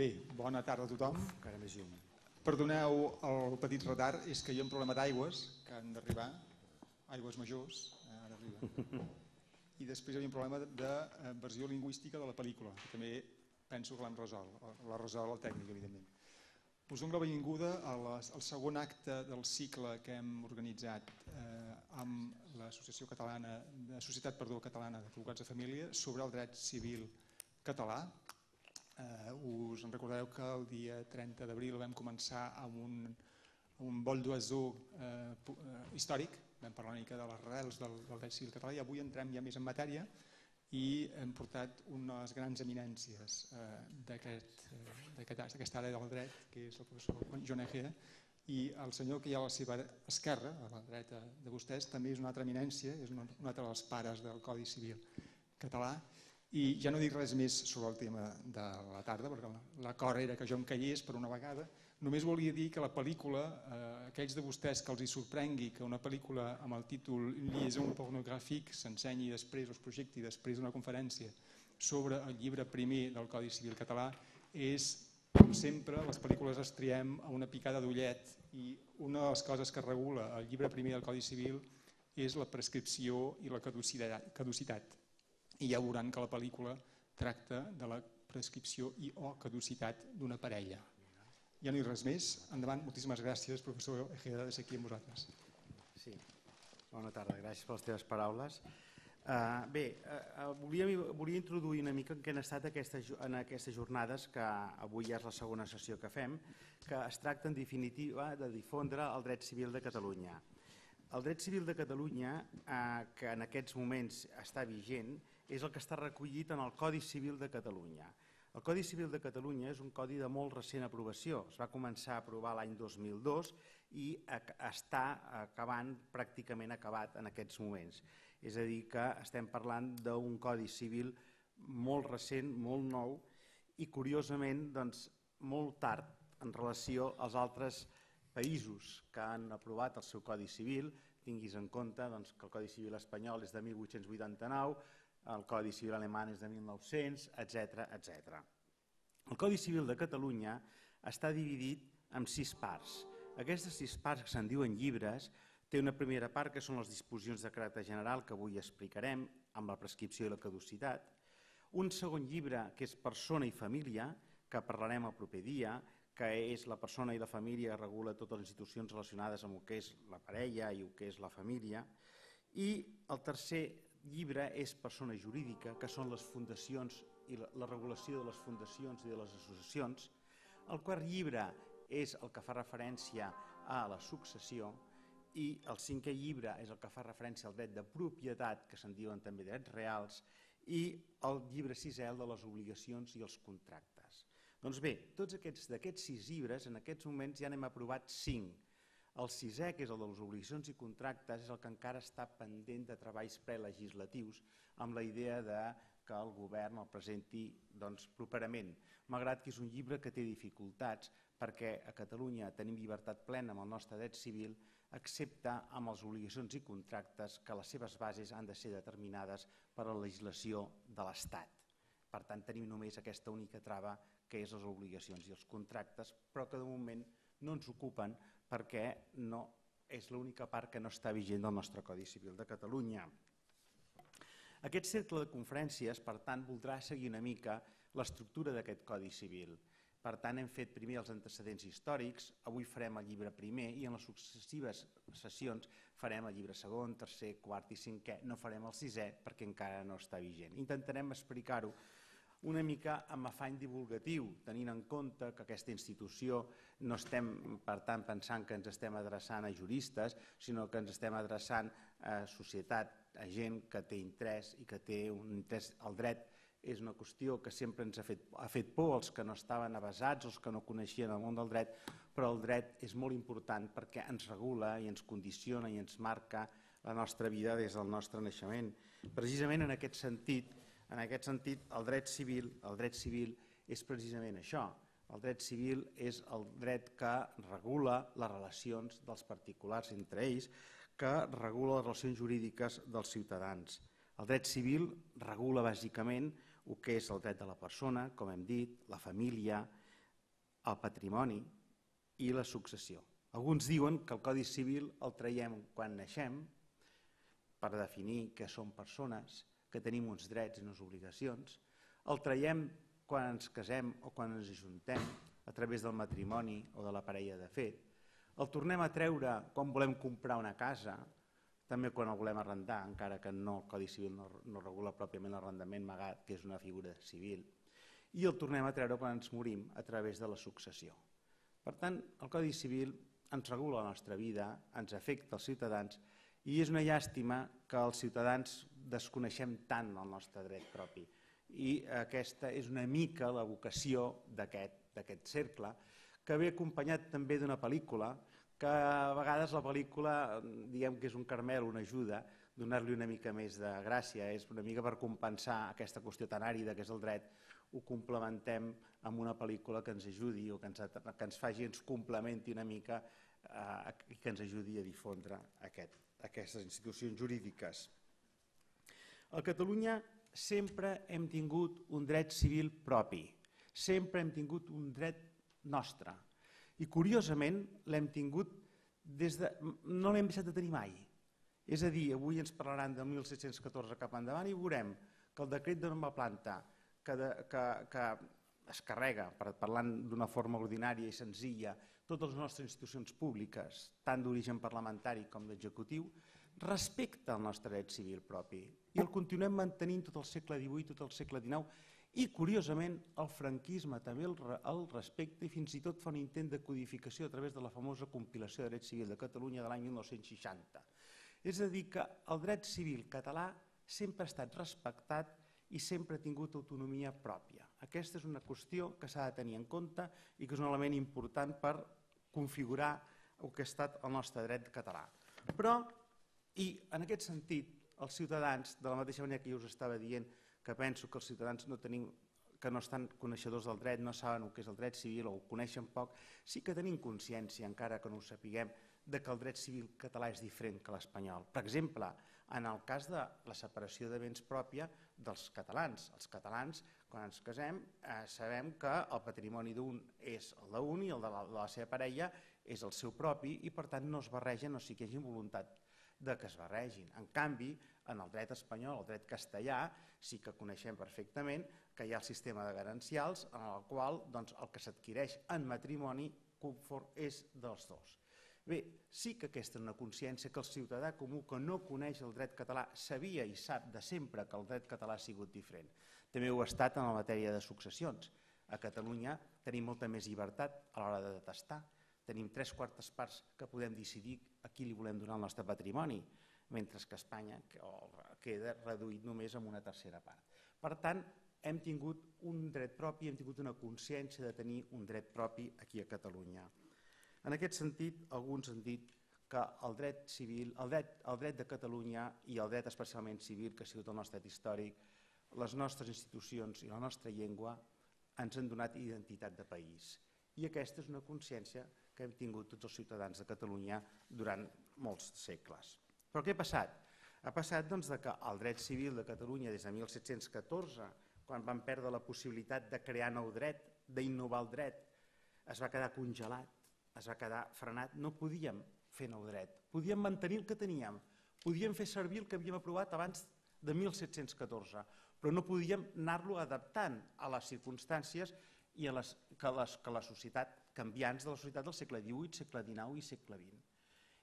Bé, bona tarda a tothom. Encara més llum. Perdoneu el petit retard, és que hi ha un problema d'aigües que han d'arribar, aigües majors, ara arriba. I després hi havia un problema de versió lingüística de la pel·lícula, que també penso que l'hem resolt, l'ha resolt el tècnic, evidentment. Us dono la benvinguda al segon acte del cicle que hem organitzat amb l'Associació Catalana, Societat Catalana d'Advocats de Família sobre el dret civil català. Us en recordareu que el dia 30 d'abril vam començar amb un vol d'oiseau històric, vam parlar una mica de les arrels del dret civil català i avui entrem ja més en matèria i hem portat unes grans eminències d'aquesta àrea del dret, que és el professor Joan Egea, i el senyor que hi ha a la seva esquerra, a la dreta de vostès, també és una altra eminència, és un altre dels pares del Codi Civil català. I ja no dic res més sobre el tema de la tarda, perquè l'acord era que jo em callés per una vegada. Només volia dir que la pel·lícula, aquells de vostès que els hi sorprengui que una pel·lícula amb el títol Liaison pornogràfic s'ensenyi després, o es projecti després d'una conferència sobre el llibre primer del Codi Civil català, és, com sempre, les pel·lícules es triem a una picada d'ullet i una de les coses que regula el llibre primer del Codi Civil és la prescripció i la caducitat. I ja veuran que la pel·lícula tracta de la prescripció i o caducitat d'una parella. Ja no hi ha res més. Endavant, moltíssimes gràcies, professor Egea, de ser aquí amb vosaltres. Sí, bona tarda, gràcies per les teves paraules. Bé, volia introduir una mica en què han estat en aquestes jornades, que avui ja és la segona sessió que fem, que es tracta en definitiva de difondre el dret civil de Catalunya. El dret civil de Catalunya, que en aquests moments està vigent, és el que està recollit en el Codi Civil de Catalunya. El Codi Civil de Catalunya és un codi de molt recent aprovació. Es va començar a aprovar l'any 2002 i està pràcticament acabat en aquests moments. És a dir, que estem parlant d'un Codi Civil molt recent, molt nou i, curiosament, molt tard en relació als altres països que han aprovat el seu Codi Civil. Tinguis en compte que el Codi Civil espanyol és de 1889, el Codi Civil alemany és de 1900, etc. El Codi Civil de Catalunya està dividit en 6 parts. Aquestes 6 parts, que se'n diuen llibres, té una primera part que són les disposicions de caràcter general, que avui explicarem, amb la prescripció i la caducitat. Un segon llibre, que és persona i família, que parlarem el proper dia, que és la persona i la família que regula totes les institucions relacionades amb el que és la parella i el que és la família. I el tercer llibre és persona jurídica, que són les fundacions i la regulació de les fundacions i de les associacions. El quart llibre és el que fa referència a la successió i el cinquè llibre és el que fa referència al dret de propietat, que se'n diuen també drets reals, i el llibre sisè, el de les obligacions i els contractes. Doncs bé, tots d'aquests 6 llibres, en aquests moments ja n'hem aprovat 5. El sisè, que és el de les obligacions i contractes, és el que encara està pendent de treballs prelegislatius amb la idea que el govern el presenti properament, malgrat que és un llibre que té dificultats perquè a Catalunya tenim llibertat plena amb el nostre dret civil, excepte amb les obligacions i contractes que les seves bases han de ser determinades per la legislació de l'Estat. Per tant, tenim només aquesta única trava, que és les obligacions i els contractes, però que de moment no ens ocupen perquè és l'única part que no està vigent del nostre Codi Civil de Catalunya. Aquest cercle de conferències, per tant, voldrà seguir una mica l'estructura d'aquest Codi Civil. Per tant, hem fet primer els antecedents històrics, avui farem el llibre primer i en les successives sessions farem el llibre segon, tercer, quart i cinquè. No farem el sisè perquè encara no està vigent. Intentarem explicar-ho una mica amb afany divulgatiu, tenint en compte que aquesta institució no estem, per tant, pensant que ens estem adreçant a juristes, sinó que ens estem adreçant a societat, a gent que té interès i que té un interès. El dret és una qüestió que sempre ens ha fet por als que no estaven avesats, als que no coneixien el món del dret, però el dret és molt important perquè ens regula i ens condiciona i ens marca la nostra vida des del nostre naixement. Precisament en aquest sentit, el dret civil és precisament això. El dret civil és el dret que regula les relacions dels particulars entre ells, que regula les relacions jurídiques dels ciutadans. El dret civil regula bàsicament el que és el dret de la persona, com hem dit, la família, el patrimoni i la successió. Alguns diuen que el Codi Civil el traiem quan naixem per definir que som persones, que tenim uns drets i unes obligacions. El traiem quan ens casem o quan ens ajuntem a través del matrimoni o de la parella de fet. El tornem a treure quan volem comprar una casa, també quan el volem arrendar, encara que el Codi Civil no regula pròpiament l'arrendament magat, que és una figura civil. I el tornem a treure quan ens morim a través de la successió. Per tant, el Codi Civil ens regula la nostra vida, ens afecta als ciutadans i és una llàstima que els ciutadans desconeixem tant el nostre dret propi. I aquesta és una mica la vocació d'aquest cercle, que ve acompanyat també d'una pel·lícula, que a vegades la pel·lícula, diguem que és un caramel, una ajuda, donar-li una mica més de gràcia, és una mica per compensar aquesta qüestió tan àrida que és el dret, ho complementem amb una pel·lícula que ens ajudi o que ens faci, ens complementi una mica i que ens ajudi a difondre aquestes institucions jurídiques. A Catalunya sempre hem tingut un dret civil propi, sempre hem tingut un dret nostre i curiosament l'hem tingut no l'hem deixat de tenir mai. És a dir, avui ens parlaran de 1714 cap endavant i veurem que el decret de nova planta que es carrega, parlant d'una forma ordinària i senzilla, totes les nostres institucions públiques, tant d'origen parlamentari com d'executiu, respecta el nostre dret civil propi i el continuem mantenint tot el segle XVIII, tot el segle XIX i, curiosament, el franquisme també el respecta i fins i tot fa un intent de codificació a través de la famosa compilació de dret civil de Catalunya de l'any 1960. És a dir, que el dret civil català sempre ha estat respectat i sempre ha tingut autonomia pròpia. Aquesta és una qüestió que s'ha de tenir en compte i que és un element important per configurar el que ha estat el nostre dret català. Però, i en aquest sentit, els ciutadans, de la mateixa manera que jo us estava dient que penso que els ciutadans que no estan coneixedors del dret, no saben el que és el dret civil o ho coneixen poc, sí que tenim consciència, encara que no ho sapiguem, que el dret civil català és diferent que l'espanyol. Per exemple, en el cas de la separació de béns pròpia dels catalans. Els catalans, quan ens casem, sabem que el patrimoni d'un és el d'un i el de la seva parella és el seu propi i per tant no es barregen, o sigui que hi hagi voluntat de que es barregin. En canvi, en el dret espanyol, el dret castellà, sí que coneixem perfectament que hi ha el sistema de garancials en el qual el que s'adquireix en matrimoni és dels dos. Bé, sí que aquesta és una consciència que el ciutadà comú que no coneix el dret català sabia i sap de sempre que el dret català ha sigut diferent. També ho ha estat en la matèria de successions. A Catalunya tenim molta més llibertat a l'hora de detestar. Tenim 3/4 parts que podem decidir a qui li volem donar el nostre patrimoni, mentre que a Espanya queda reduït només amb una tercera part. Per tant, hem tingut un dret propi, hem tingut una consciència de tenir un dret propi aquí a Catalunya. En aquest sentit, alguns han dit que el dret civil, el dret de Catalunya i el dret especialment civil, que ha sigut el nostre dret històric, les nostres institucions i la nostra llengua ens han donat identitat de país. I aquesta és una consciència que hem tingut tots els ciutadans de Catalunya durant molts segles. Però què ha passat? Ha passat que el dret civil de Catalunya des de 1714, quan vam perdre la possibilitat de crear nou dret, d'innovar el dret, es va quedar congelat, es va quedar frenat, no podíem fer nou dret, podíem mantenir el que teníem, podíem fer servir el que havíem aprovat abans de 1714, però no podíem anar-lo adaptant a les circumstàncies i a la societat canviants de la societat del segle XVIII, segle XIX i segle XX.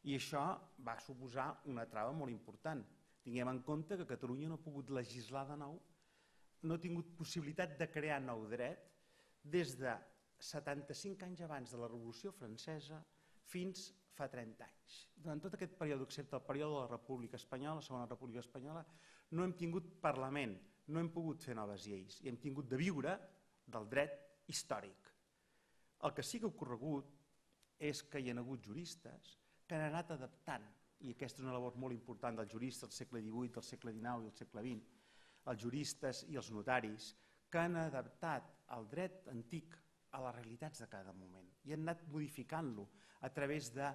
I això va suposar una trava molt important. Tinguem en compte que Catalunya no ha pogut legislar de nou, no ha tingut possibilitat de crear nou dret des de 75 anys abans de la Revolució Francesa fins fa 30 anys. Durant tot aquest període, excepte el període de la República Espanyola, la Segona República Espanyola, no hem tingut Parlament, no hem pogut fer noves lleis i hem tingut de viure del dret històric. El que sí que ha ocorregut és que hi ha hagut juristes que han anat adaptant, i aquesta és una labor molt important dels juristes del segle XVIII, del segle XIX i del segle XX, els juristes i els notaris que han adaptat el dret antic a les realitats de cada moment i han anat modificant-lo a través de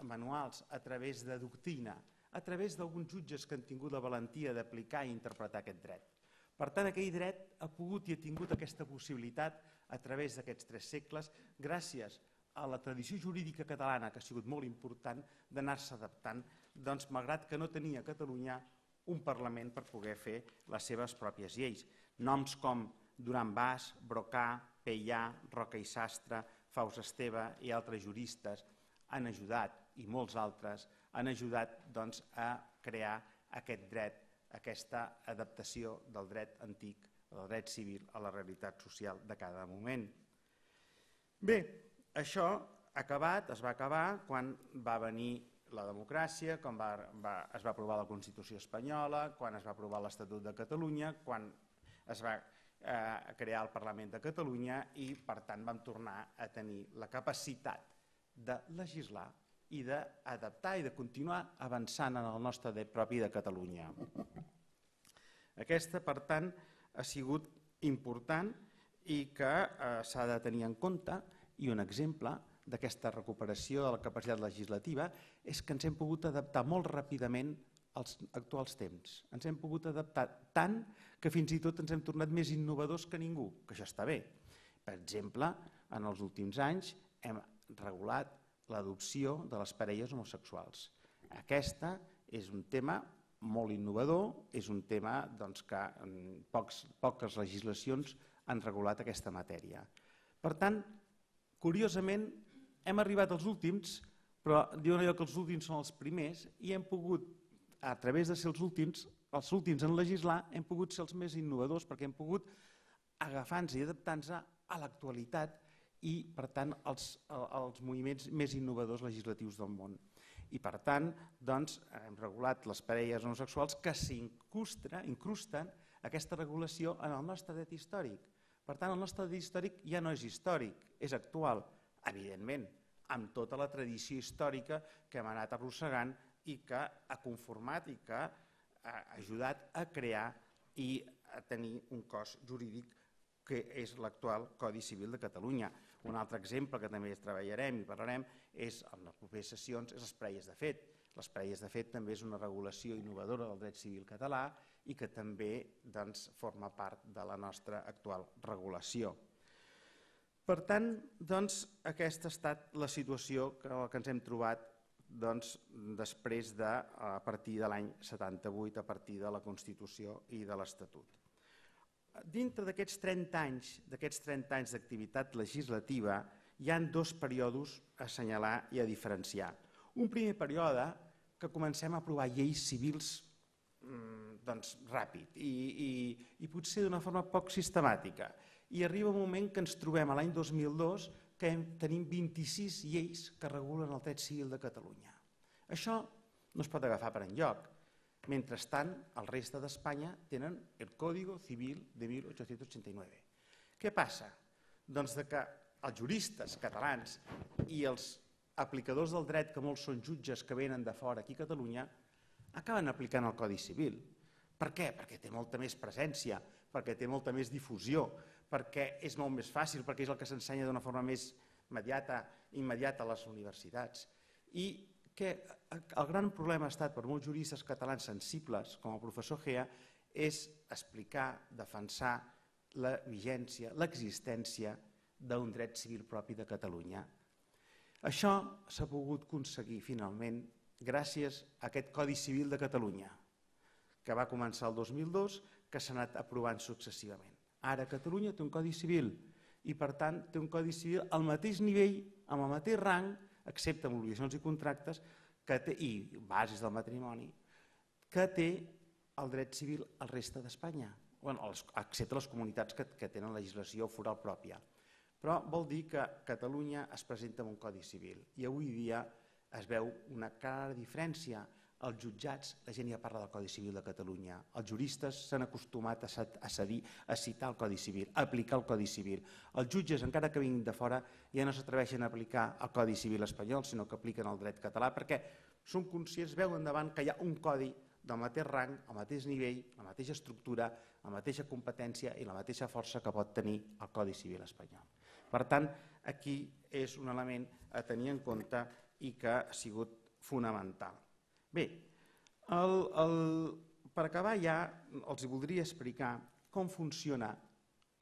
manuals, a través de doctrina, a través d'alguns jutges que han tingut la valentia d'aplicar i interpretar aquest dret. Per tant, aquell dret ha pogut i ha tingut aquesta possibilitat a través d'aquests 3 segles, gràcies a la tradició jurídica catalana, que ha sigut molt important, d'anar-se adaptant, doncs, malgrat que no tenia Catalunya un Parlament per poder fer les seves pròpies lleis. Noms com Duran Bas, Brocà, Peià, Roca i Sastre, Faust Esteve i altres juristes han ajudat, i molts altres, han ajudat doncs, a crear aquest dret, aquesta adaptació del dret antic, del dret civil a la realitat social de cada moment. Bé, això ha acabat, es va acabar quan va venir la democràcia, quan es va aprovar la Constitució espanyola, quan es va aprovar l'Estatut de Catalunya, quan es va crear el Parlament de Catalunya i, per tant, vam tornar a tenir la capacitat de legislar i d'adaptar i de continuar avançant en el nostre dret propi de Catalunya. Aquesta, per tant, ha sigut important i que s'ha de tenir en compte, i un exemple d'aquesta recuperació de la capacitat legislativa és que ens hem pogut adaptar molt ràpidament als actuals temps. Ens hem pogut adaptar tant que fins i tot ens hem tornat més innovadors que ningú, que això està bé. Per exemple, en els últims anys hem regulat l'adopció de les parelles homosexuals. Aquesta és un tema molt innovador, és un tema que poques legislacions han regulat aquesta matèria. Per tant, curiosament, hem arribat als últims, però diuen allò que els últims són els primers i hem pogut, a través de ser els últims en legislar, hem pogut ser els més innovadors perquè hem pogut agafar-nos i adaptar-nos a l'actualitat i, per tant, als moviments més innovadors legislatius del món. I, per tant, hem regulat les parelles homosexuals que s'incrusten aquesta regulació en el nostre dret històric. Per tant, el nostre dret històric ja no és històric, és actual, evidentment, amb tota la tradició històrica que hem anat arrossegant i que ha conformat i que ha ajudat a crear i a tenir un cos jurídic que és l'actual Codi Civil de Catalunya. Un altre exemple que també treballarem i parlarem és, en les properes sessions, és les parelles de fet. Les parelles de fet també és una regulació innovadora del dret civil català i que també forma part de la nostra actual regulació. Per tant, aquesta ha estat la situació que ens hem trobat després a partir de l'any 78, a partir de la Constitució i de l'Estatut. Dintre d'aquests 30 anys d'activitat legislativa hi ha 2 períodes a assenyalar i a diferenciar. Un primer període que comencem a aprovar lleis civils ràpid i potser d'una forma poc sistemàtica. I arriba un moment que ens trobem a l'any 2002 que tenim 26 lleis que regulen el dret civil de Catalunya. Això no es pot agafar per enlloc. Mentrestant, el reste d'Espanya tenen el Código Civil de 1889. Què passa? Doncs que els juristes catalans i els aplicadors del dret, que molts són jutges que venen de fora aquí a Catalunya, acaben aplicant el Codi Civil. Per què? Perquè té molta més presència, perquè té molta més difusió, perquè és molt més fàcil, perquè és el que s'ensenya d'una forma més immediata a les universitats. I que el gran problema ha estat per molts juristes catalans sensibles, com el professor Gea, és explicar, defensar la vigència, l'existència d'un dret civil propi de Catalunya. Això s'ha pogut aconseguir finalment gràcies a aquest Codi Civil de Catalunya, que va començar el 2002, que s'ha anat aprovant successivament. Ara Catalunya té un Codi Civil i, per tant, té un Codi Civil al mateix nivell, amb el mateix rang, excepte amb obligacions i contractes i bases del matrimoni, que té el dret civil al reste d'Espanya, excepte les comunitats que tenen legislació foral pròpia. Però vol dir que Catalunya es presenta amb un Codi Civil i avui dia es veu una clara diferència. Els jutjats, la gent ja parla del Codi Civil de Catalunya, els juristes s'han acostumat a citar el Codi Civil, a aplicar el Codi Civil. Els jutges, encara que vinguin de fora, ja no s'atreveixen a aplicar el Codi Civil espanyol, sinó que apliquen el dret català, perquè són conscients, veuen davant que hi ha un codi del mateix rang, al mateix nivell, la mateixa estructura, la mateixa competència i la mateixa força que pot tenir el Codi Civil espanyol. Per tant, aquí és un element a tenir en compte i que ha sigut fonamental. Bé, per acabar ja els voldria explicar com funciona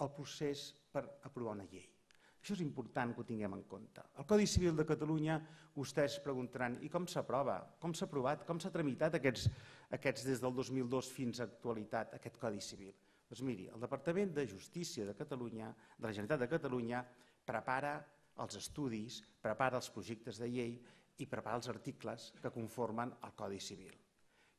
el procés per aprovar una llei. Això és important que ho tinguem en compte. El Codi Civil de Catalunya, vostès preguntaran, i com s'aprova? Com s'ha aprovat? Com s'ha tramitat aquests des del 2002 fins a l'actualitat, aquest Codi Civil? Doncs miri, el Departament de Justícia de Catalunya, de la Generalitat de Catalunya, prepara els estudis, prepara els projectes de llei i prepara els articles que conformen el Codi Civil.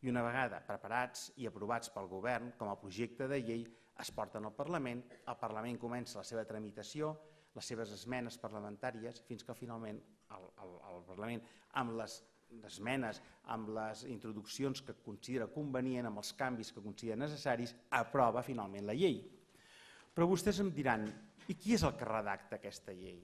I una vegada preparats i aprovats pel govern com a projecte de llei, es porten al Parlament, el Parlament comença la seva tramitació, les seves esmenes parlamentàries, fins que finalment el Parlament, amb les esmenes, amb les introduccions que considera convenient, amb els canvis que considera necessaris, aprova finalment la llei. Però vostès em diran, i qui és el que redacta aquesta llei?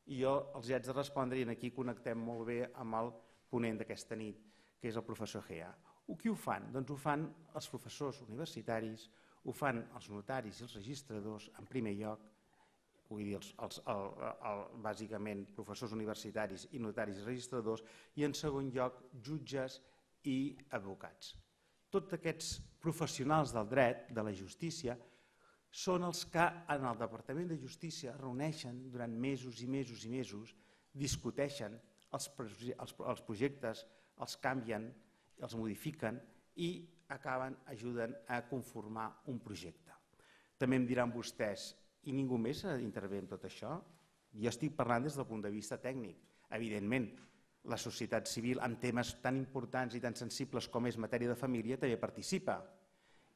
I jo els haig de respondre, i aquí connectem molt bé amb el ponent d'aquesta nit, que és el professor Gea. Qui ho fan? Doncs ho fan els professors universitaris, ho fan els notaris i els registradors, en primer lloc, vull dir, bàsicament professors universitaris i notaris i registradors, i en segon lloc jutges i advocats. Tots aquests professionals del dret, de la justícia, són els que en el Departament de Justícia reuneixen durant mesos i mesos i mesos, discuteixen els projectes, els canvien, els modifiquen i ajuden a conformar un projecte. També em diran vostès, i ningú més intervé en tot això? Jo estic parlant des del punt de vista tècnic. Evidentment, la societat civil en temes tan importants i tan sensibles com és matèria de família també participa.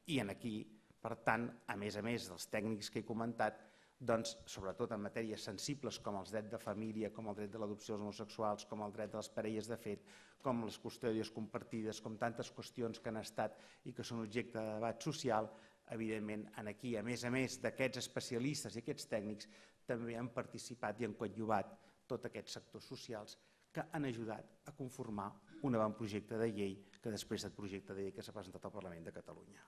I aquí, per tant, a més dels tècnics que he comentat, doncs, sobretot en matèries sensibles com els drets de família, com el dret de l'adopció dels homosexuals, com el dret de les parelles de fet, com les custòdies compartides, com tantes qüestions que han estat i que són objecte de debat social, evidentment, aquí, a més d'aquests especialistes i aquests tècnics, també han participat i han coadjuvat tots aquests sectors socials que han ajudat a conformar un avantprojecte de llei que després del projecte de llei que s'ha presentat al Parlament de Catalunya.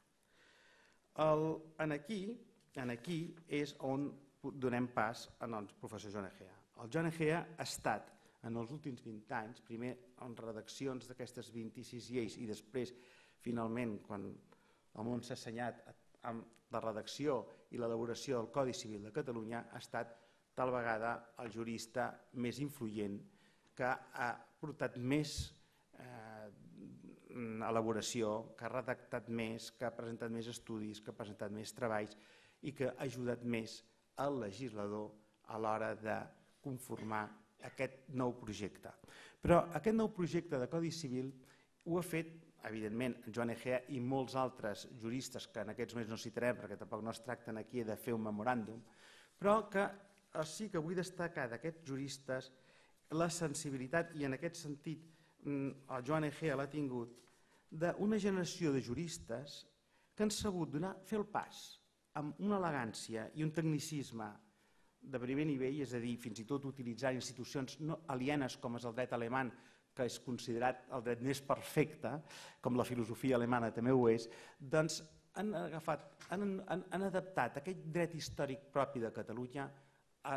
Aquí és on donem pas al professor Joan Egea. El Joan Egea ha estat, en els últims 20 anys, primer en redaccions d'aquestes 26 lleis i després, finalment, quan el món s'ha assenyat amb la redacció i l'elaboració del Codi Civil de Catalunya, ha estat tal vegada el jurista més influent que ha portat més elaboració, que ha redactat més, que ha presentat més estudis, que ha presentat més treballs i que ha ajudat més al legislador a l'hora de conformar aquest nou projecte. Però aquest nou projecte de Codi Civil ho ha fet, evidentment, Joan Egea i molts altres juristes que en aquests moments no citarem perquè tampoc no es tracten aquí de fer un memoràndum, però que sí que vull destacar d'aquests juristes la sensibilitat, i en aquest sentit el Joan Egea l'ha tingut, d'una generació de juristes que han sabut fer el pas amb una elegància i un tecnicisme de primer nivell, és a dir, fins i tot utilitzar institucions no alienes com és el dret alemany, que és considerat el dret més perfecte, com la filosofia alemana també ho és, doncs han adaptat aquest dret històric propi de Catalunya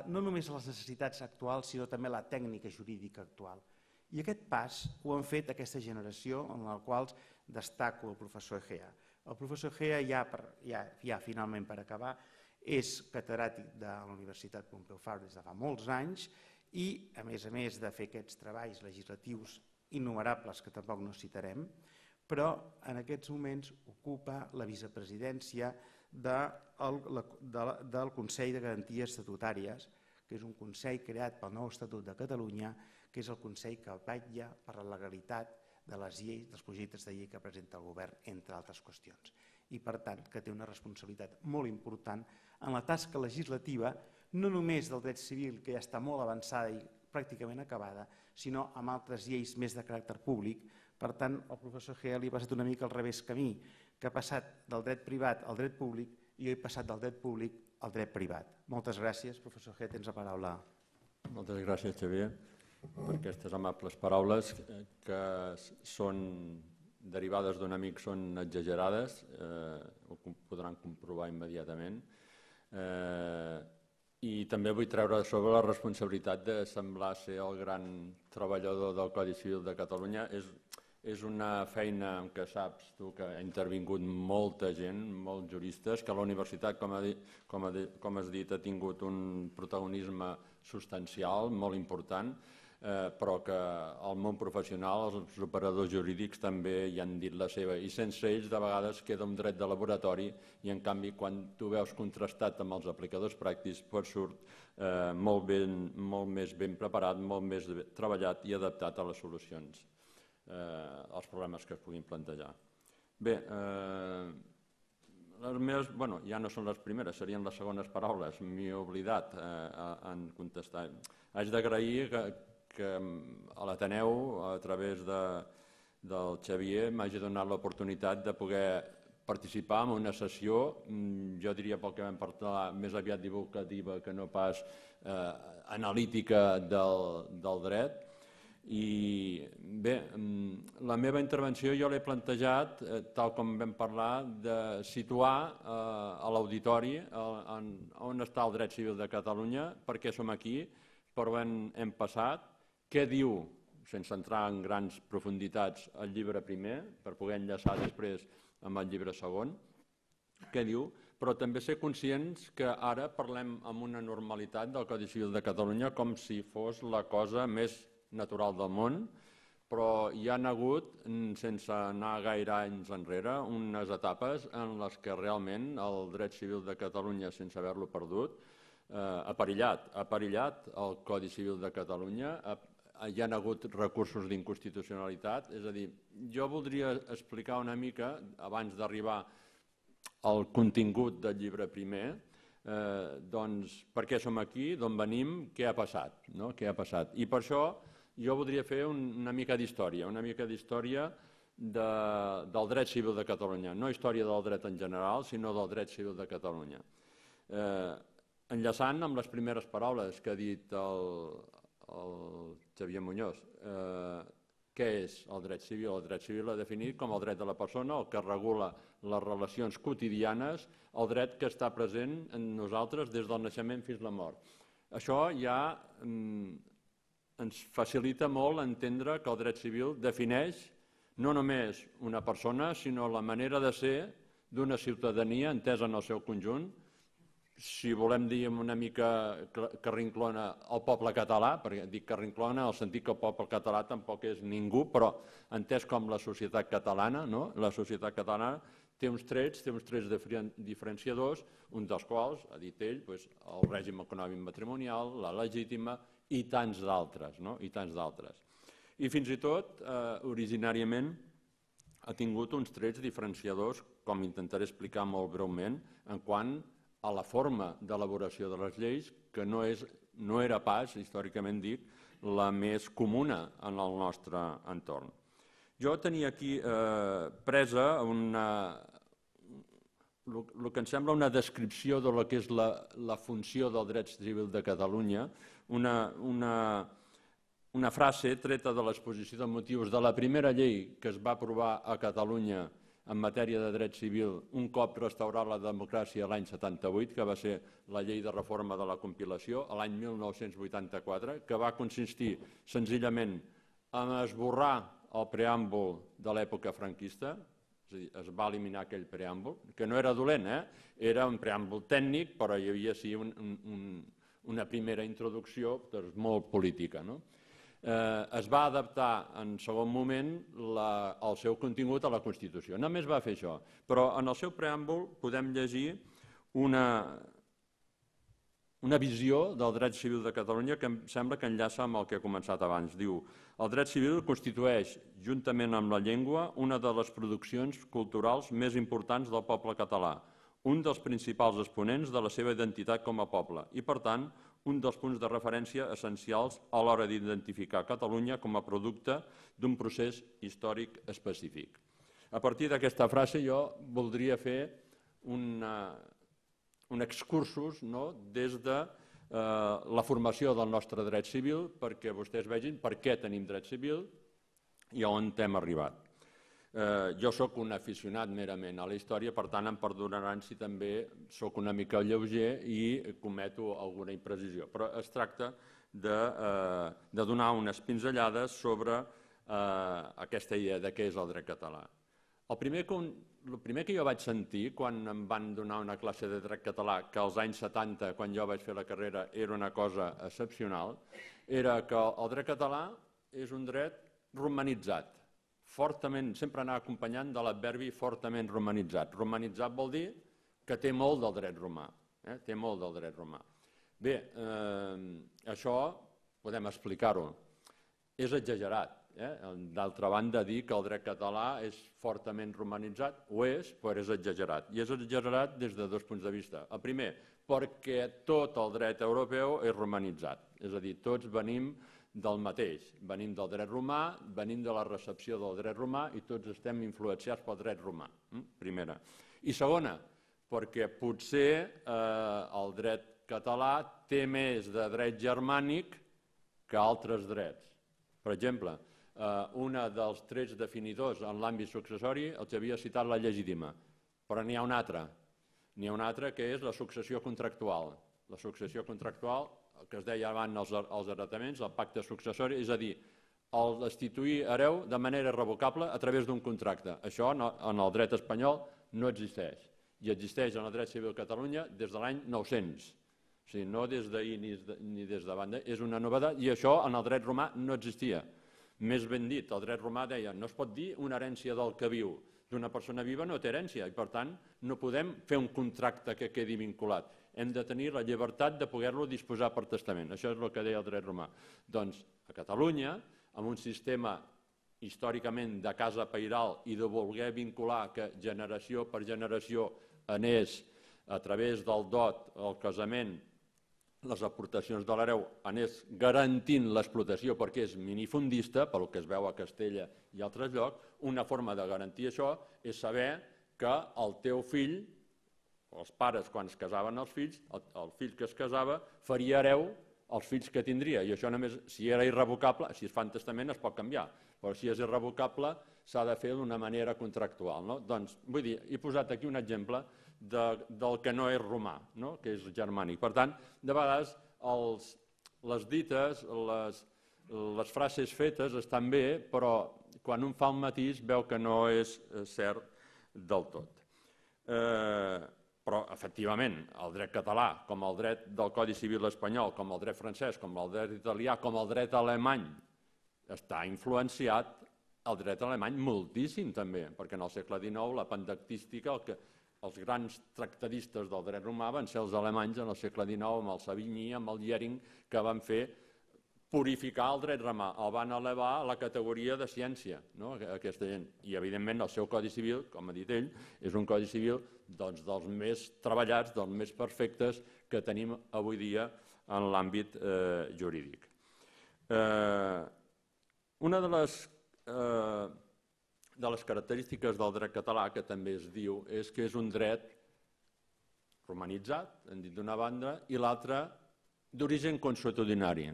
no només a les necessitats actuals, sinó també a la tècnica jurídica actual. I aquest pas ho han fet aquesta generació, en la qual destaco el professor Egea. El professor Egea, ja finalment per acabar, és catedràtic de la Universitat Pompeu Fabra des de fa molts anys i, a més de fer aquests treballs legislatius innumerables que tampoc no citarem, però en aquests moments ocupa la vicepresidència del Consell de Garanties Estatutàries, que és un consell creat pel nou Estatut de Catalunya, que és el consell que vetlla per la legalitat de les lleis, dels projectes de llei que presenta el govern, entre altres qüestions. I, per tant, que té una responsabilitat molt important en la tasca legislativa, no només del dret civil, que ja està molt avançada i pràcticament acabada, sinó amb altres lleis més de caràcter públic. Per tant, el professor Egea li ha passat una mica al revés camí, que ha passat del dret privat al dret públic i jo he passat del dret públic al dret privat. Moltes gràcies, professor Egea, tens la paraula. Moltes gràcies, Xavier, per aquestes amables paraules que són derivades d'un amic, són exagerades, ho podran comprovar immediatament. I també vull treure sobre la responsabilitat de semblar ser el gran treballador del Codi Civil de Catalunya. És una feina en què saps tu que ha intervingut molta gent, molts juristes, que la universitat, com has dit, ha tingut un protagonisme substancial, molt important, però que el món professional, els operadors jurídics també hi han dit la seva, i sense ells de vegades queda un dret de laboratori i en canvi quan tu veus contrastat amb els aplicadors pràctics pot surt molt més ben preparat, molt més treballat i adaptat a les solucions, als problemes que es puguin plantejar. Bé, les meves, ja no són les primeres, serien les segones paraules, m'hi he oblidat en contestar. Haig d'agrair que a l'Ateneu, a través del Xavier, m'hagi donat l'oportunitat de poder participar en una sessió, jo diria pel que vam parlar, més aviat divulgativa que no pas analítica del dret. I bé, la meva intervenció jo l'he plantejat, tal com vam parlar, de situar a l'auditori on està el dret civil de Catalunya, per què som aquí, per on hem passat, què diu, sense entrar en grans profunditats, el llibre primer, per poder enllaçar després amb el llibre segon, què diu, però també ser conscients que ara parlem amb una normalitat del Codi Civil de Catalunya com si fos la cosa més natural del món, però hi ha hagut, sense anar gaire anys enrere, unes etapes en les que realment el dret civil de Catalunya, sense haver-lo perdut, ha perillat el Codi Civil de Catalunya, hi ha hagut recursos d'inconstitucionalitat, és a dir, jo voldria explicar una mica, abans d'arribar al contingut del llibre primer, doncs per què som aquí, d'on venim, què ha passat, no? Què ha passat. I per això jo voldria fer una mica d'història, del dret civil de Catalunya, no història del dret en general, sinó del dret civil de Catalunya. Enllaçant amb les primeres paraules que ha dit el Xavier Muñoz, què és el dret civil? El dret civil l'ha definit com el dret de la persona, el que regula les relacions quotidianes, el dret que està present en nosaltres des del naixement fins a la mort. Això ja ens facilita molt entendre que el dret civil defineix no només una persona, sinó la manera de ser d'una ciutadania entesa en el seu conjunt. Si volem dir una mica carrinclona el poble català, perquè dic carrinclona en el sentit que el poble català tampoc és ningú, però entès com la societat catalana, no? La societat catalana té uns trets diferenciadors, un dels quals, ha dit ell, el règim econòmic matrimonial, la legítima i tants d'altres, no? I tants d'altres. I fins i tot, originàriament, ha tingut uns trets diferenciadors, com intentaré explicar molt breument, en quant a la forma d'elaboració de les lleis, que no era pas, històricament dic, la més comuna en el nostre entorn. Jo tenia aquí presa el que em sembla una descripció de lo que és la funció del dret civil de Catalunya, una frase treta de l'exposició de motius de la primera llei que es va aprovar a Catalunya en matèria de dret civil un cop restaurar la democràcia l'any 78, que va ser la llei de reforma de la compilació, l'any 1984, que va consistir senzillament en esborrar el preàmbul de l'època franquista, és a dir, es va eliminar aquell preàmbul, que no era dolent, era un preàmbul tècnic, però hi havia sí una primera introducció molt política. Es va adaptar en segon moment el seu contingut a la Constitució. Només va fer això, però en el seu preàmbul podem llegir una visió del dret civil de Catalunya que em sembla que enllaça amb el que he començat abans. Diu: el dret civil constitueix, juntament amb la llengua, una de les produccions culturals més importants del poble català, un dels principals exponents de la seva identitat com a poble i, per tant, un dels punts de referència essencials a l'hora d'identificar Catalunya com a producte d'un procés històric específic. A partir d'aquesta frase jo voldria fer un excursus des de la formació del nostre dret civil perquè vostès vegin per què tenim dret civil i on hem arribat. Jo sóc un aficionat merament a la història, per tant em perdonaran si també sóc una mica lleuger i cometo alguna imprecisió, però es tracta de donar unes pinzellades sobre aquesta idea de què és el dret català. El primer que jo vaig sentir quan em van donar una classe de dret català, que als anys 70, quan jo vaig fer la carrera, era una cosa excepcional, era que el dret català és un dret romanitzat, fortament, sempre anar acompanyant de l'adverbi fortament romanitzat. Romanitzat vol dir que té molt del dret romà. Té molt del dret romà. Bé, això podem explicar-ho. És exagerat. D'altra banda, dir que el dret català és fortament romanitzat, ho és, però és exagerat. I és exagerat des de dos punts de vista. El primer, perquè tot el dret europeu és romanitzat. És a dir, tots venim del mateix. Venim del dret romà, venim de la recepció del dret romà i tots estem influenciats pel dret romà. Primera. I segona, perquè potser el dret català té més de dret germànic que altres drets. Per exemple, un dels trets definidors en l'àmbit successori els havia citat la legítima, però n'hi ha un altre. N'hi ha un altre que és la successió contractual. La successió contractual, que es deia abans els heretaments, el pacte successori, és a dir, el destituir hereu de manera irrevocable a través d'un contracte. Això en el dret espanyol no existeix. I existeix en el dret civil de Catalunya des de l'any 900. O sigui, no des d'ahir ni des de banda. És una novetat i això en el dret romà no existia. Més ben dit, el dret romà deia no es pot dir una herència del que viu. D'una persona viva no té herència i, per tant, no podem fer un contracte que quedi vinculat. Hem de tenir la llibertat de poder-lo disposar per testament. Això és el que deia el dret romà. Doncs, a Catalunya, amb un sistema històricament de casa pairal i de voler vincular que generació per generació anés a través del dot, el casament, les aportacions de l'hereu, anés garantint l'explotació perquè és minifundista, pel que es veu a Castella i altres llocs, una forma de garantir això és saber que el teu fill, els pares quan es casaven els fills, el fill que es casava faria hereu els fills que tindria, i això només, si era irrevocable, si es fa en testament es pot canviar, però si és irrevocable s'ha de fer d'una manera contractual. Doncs, vull dir, he posat aquí un exemple del que no és romà, que és germànic. Per tant, de vegades les dites, les frases fetes estan bé, però quan un fa un matís veu que no és cert del tot. Però, efectivament, el dret català, com el dret del Codi Civil espanyol, com el dret francès, com el dret italià, com el dret alemany, està influenciat el dret alemany moltíssim també, perquè en el segle XIX la pandactística, els grans tractadistes del dret romà van ser els alemanys en el segle XIX, amb el Savigny, amb el Jhering, que van fer purificar el dret romà, el van elevar a la categoria de ciència, aquesta gent. I, evidentment, el seu Codi Civil, com ha dit ell, és un Codi Civil dels més treballats, dels més perfectes que tenim avui dia en l'àmbit jurídic. Una de les característiques del dret català, que també es diu, és que és un dret romanitzat, hem dit d'una banda, i l'altra d'origen consuetudinari.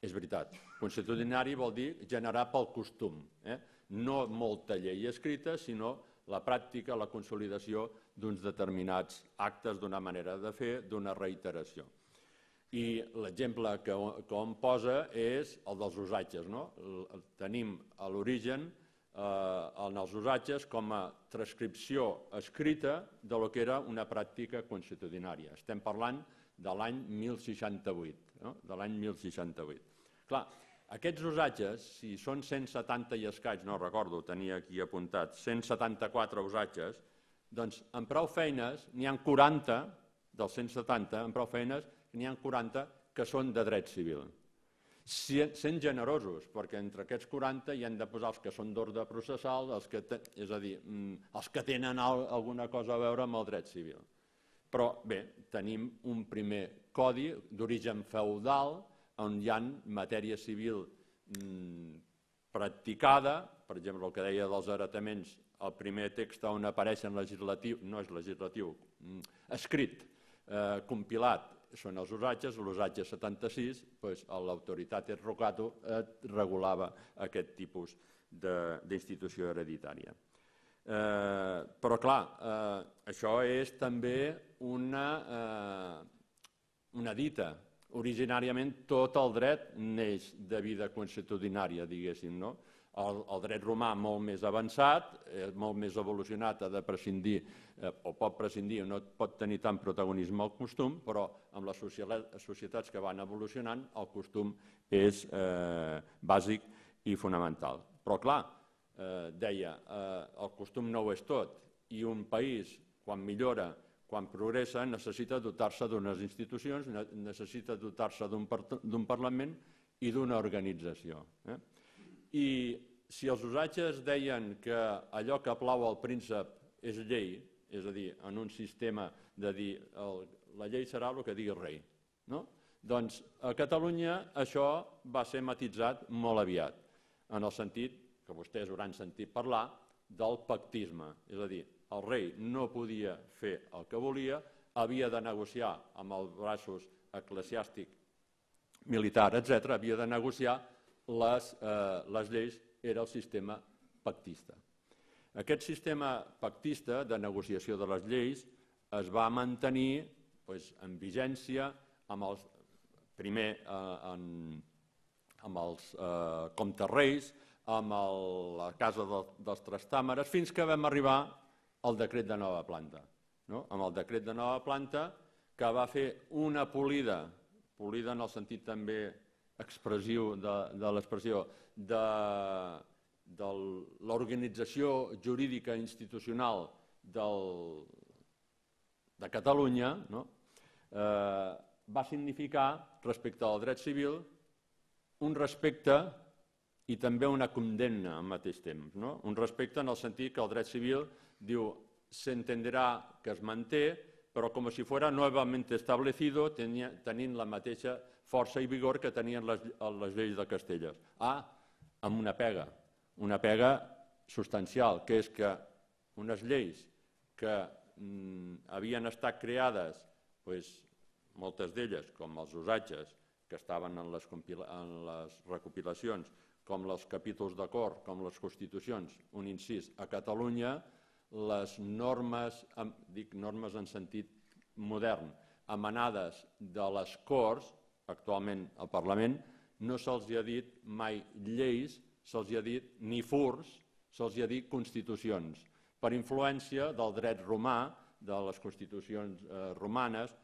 És veritat, consuetudinari vol dir generar pel costum, no molta llei escrita, sinó la pràctica, la consolidació d'uns determinats actes, d'una manera de fer, d'una reiteració. I l'exemple que hom posa és el dels usatges. Tenim a l'origen en els usatges com a transcripció escrita del que era una pràctica consuetudinària. Estem parlant de l'any 1068, de l'any 1068. Clar, aquests usatges, si són 170 i escaig, no recordo, tenia aquí apuntat, 174 usatges, doncs en prou feines n'hi ha 40, dels 170, en prou feines n'hi ha 40 que són de dret civil. Sent generosos, perquè entre aquests 40 hi han de posar els que són d'ordre processal, és a dir, els que tenen alguna cosa a veure amb el dret civil. Però bé, tenim un primer codi d'origen feudal on hi ha matèria civil practicada, per exemple, el que deia dels heretaments, el primer text on apareix en legislatiu, no és legislatiu, escrit, compilat, són els usatges, l'usatge 76, l'autoritat rogato regulava aquest tipus d'institució hereditària. Però, clar, això és també una dita. Originàriament tot el dret neix de vida consuetudinària, diguéssim, no? El dret romà molt més avançat, molt més evolucionat, ha de prescindir, o pot prescindir, no pot tenir tant protagonisme el costum, però amb les societats que van evolucionant el costum és bàsic i fonamental. Però clar, deia, el costum no ho és tot, i un país, quan millora, quan progressa, necessita dotar-se d'unes institucions, necessita dotar-se d'un Parlament i d'una organització. I si els usatges deien que allò que plau al príncep és llei, és a dir, en un sistema de dir la llei serà el que digui el rei, doncs a Catalunya això va ser matitzat molt aviat, en el sentit que vostès hauran sentit parlar del pactisme, és a dir, el rei no podia fer el que volia, havia de negociar amb els braços eclesiàstic, militar, etc., havia de negociar les lleis, era el sistema pactista. Aquest sistema pactista de negociació de les lleis es va mantenir en vigència primer amb els comtes reis, amb la Casa dels Trastàmeres, fins que vam arribar al decret de nova planta. Amb el decret de nova planta que va fer una polida en el sentit també expressiu de l'expressió, de l'organització jurídica institucional de Catalunya, va significar, respecte al dret civil, un respecte i també una condemna al mateix temps. Un respecte en el sentit que el dret civil diu s'entenderà que es manté, però com si fuera nuevamente establecido, tenint la mateixa força i vigor que tenien les lleis de Castella. Amb una pega substancial, que és que unes lleis que havien estat creades, moltes d'elles, com els usatges, que estaven en les recopilacions, com els capítols d'acord, com les constitucions, un incís, a Catalunya, les normes, dic normes en sentit modern, emanades de les Corts, actualment al Parlament, no se'ls ha dit mai lleis, se'ls ha dit ni furs, se'ls ha dit constitucions, per influència del dret romà, de les constitucions romanes,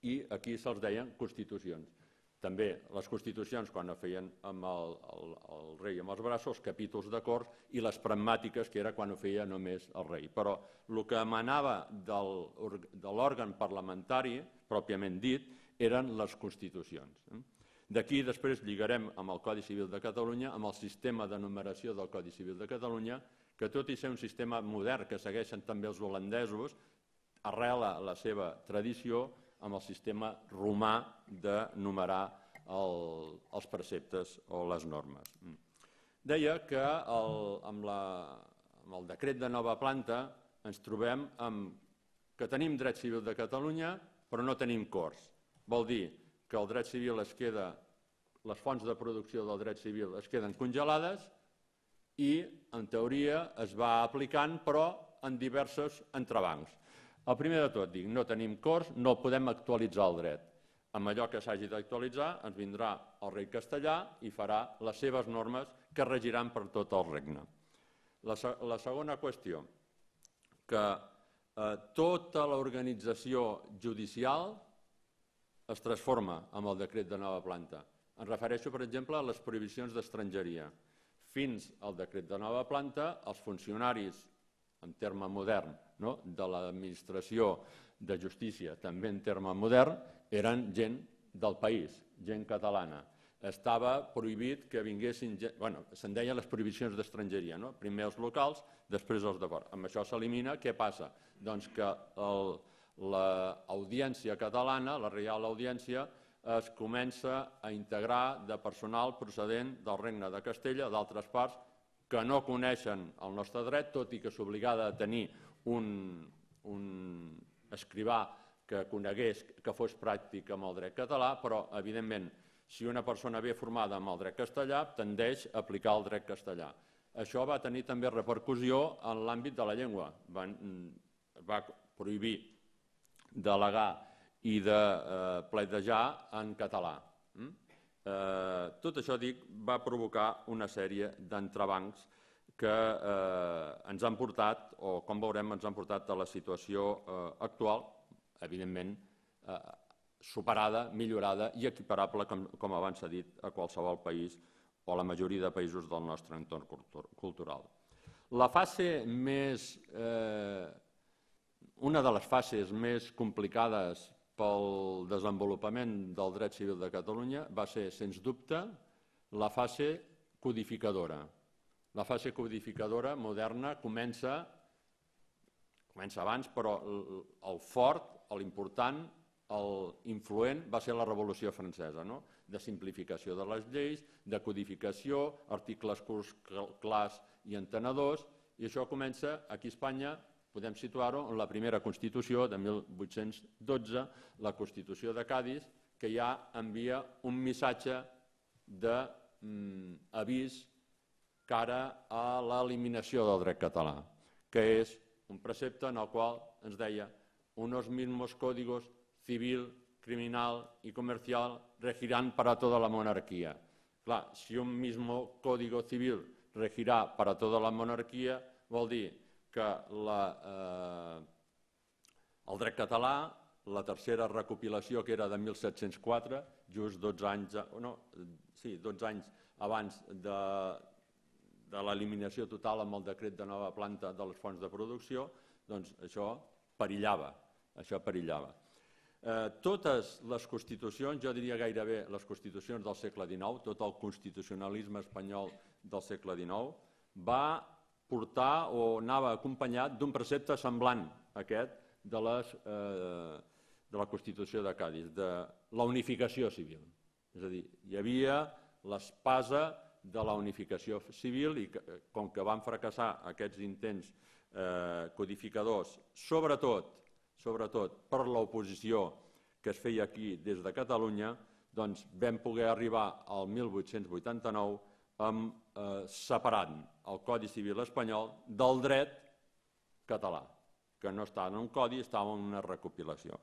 i aquí se'ls deien constitucions. També les constitucions, quan ho feien amb el rei amb els braços, els capítols d'acord i les pragmàtiques, que era quan ho feia només el rei. Però el que emanava de l'òrgan parlamentari, pròpiament dit, eren les constitucions. D'aquí després lligarem amb el Codi Civil de Catalunya, amb el sistema de numeració del Codi Civil de Catalunya, que tot i ser un sistema modern que segueixen també els holandesos, arrela la seva tradició amb el sistema romà de numerar els preceptes o les normes. Deia que amb el decret de nova planta ens trobem que tenim dret civil de Catalunya però no tenim Corts. Vol dir que el dret civil es queda, les fonts de producció del dret civil es queden congelades i en teoria es va aplicant però en diversos entrebancs. El primer de tot, dic, no tenim Corts, no podem actualitzar el dret. Amb allò que s'hagi d'actualitzar ens vindrà el rei castellà i farà les seves normes que regiran per tot el regne. La segona qüestió, que tota l'organització judicial es transforma amb el decret de nova planta. Em refereixo, per exemple, a les prohibicions d'estrangeria. Fins al decret de nova planta, els funcionaris, en terme modern, de l'administració de justícia, també en terme modern, eren gent del país, gent catalana. Estava prohibit que vinguessin gent... Se'n deien les prohibicions d'estrangeria, primer els locals, després els de fora. Amb això s'elimina. Què passa? Doncs que l'audiència catalana, la Reial Audiència, es comença a integrar de personal procedent del Regne de Castella, d'altres parts, que no coneixen el nostre dret, tot i que s'obligava a tenir un escrivà que conegués, que fos pràctic amb el dret català, però, evidentment, si una persona ve formada amb el dret castellà, tendeix a aplicar el dret castellà. Això va tenir també repercussió en l'àmbit de la llengua. Va prohibir delegar i de pledejar en català. Tot això, dic, va provocar una sèrie d'entrebancs que ens han portat, o com veurem, ens han portat a la situació actual, evidentment superada, millorada i equiparable, com abans s'ha dit, a qualsevol país o a la majoria de països del nostre entorn cultural. La fase més, una de les fases més complicades pel desenvolupament del dret civil de Catalunya va ser, sens dubte, la fase codificadora. La fase codificadora moderna comença abans, però el fort, l'important, l'influent va ser la Revolució Francesa, de simplificació de les lleis, de codificació, articles curts, clars i entenedors, i això comença aquí a Espanya. Podem situar-ho en la primera Constitució de 1812, la Constitució de Cadis, que ja envia un missatge d'avís cara a l'eliminació del dret català, que és un precepte en el qual ens deia unos mismos códigos civil, criminal y comercial regirán para toda la monarquía. Clar, si un mismo código civil regirà para toda la monarquia, vol dir que el dret català, la tercera recopilació, que era de 1704, just 12 anys abans de l'eliminació total amb el decret de nova planta de les fonts de producció, doncs això perillava. Totes les constitucions, jo diria gairebé les constitucions del segle XIX, tot el constitucionalisme espanyol del segle XIX, va portar o anava acompanyat d'un precepte semblant a aquest de la Constitució de Cadis, de la unificació civil. És a dir, hi havia l'espasa de la unificació civil i com que van fracassar aquests intents codificadors, sobretot per l'oposició que es feia aquí des de Catalunya, doncs vam poder arribar al 1889 separant el Codi Civil espanyol del dret català, que no estava en un codi, estava en una recopilació.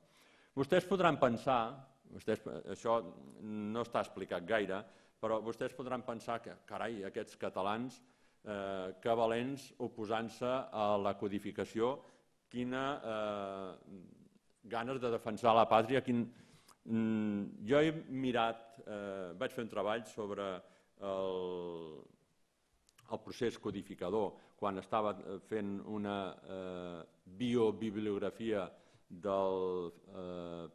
Vostès podran pensar, això no està explicat gaire, però vostès podran pensar que, carai, aquests catalans, que valents oposant-se a la codificació, quina ganes de defensar la pàtria. Jo he mirat, vaig fer un treball sobre el procés codificador, quan estava fent una biobibliografia del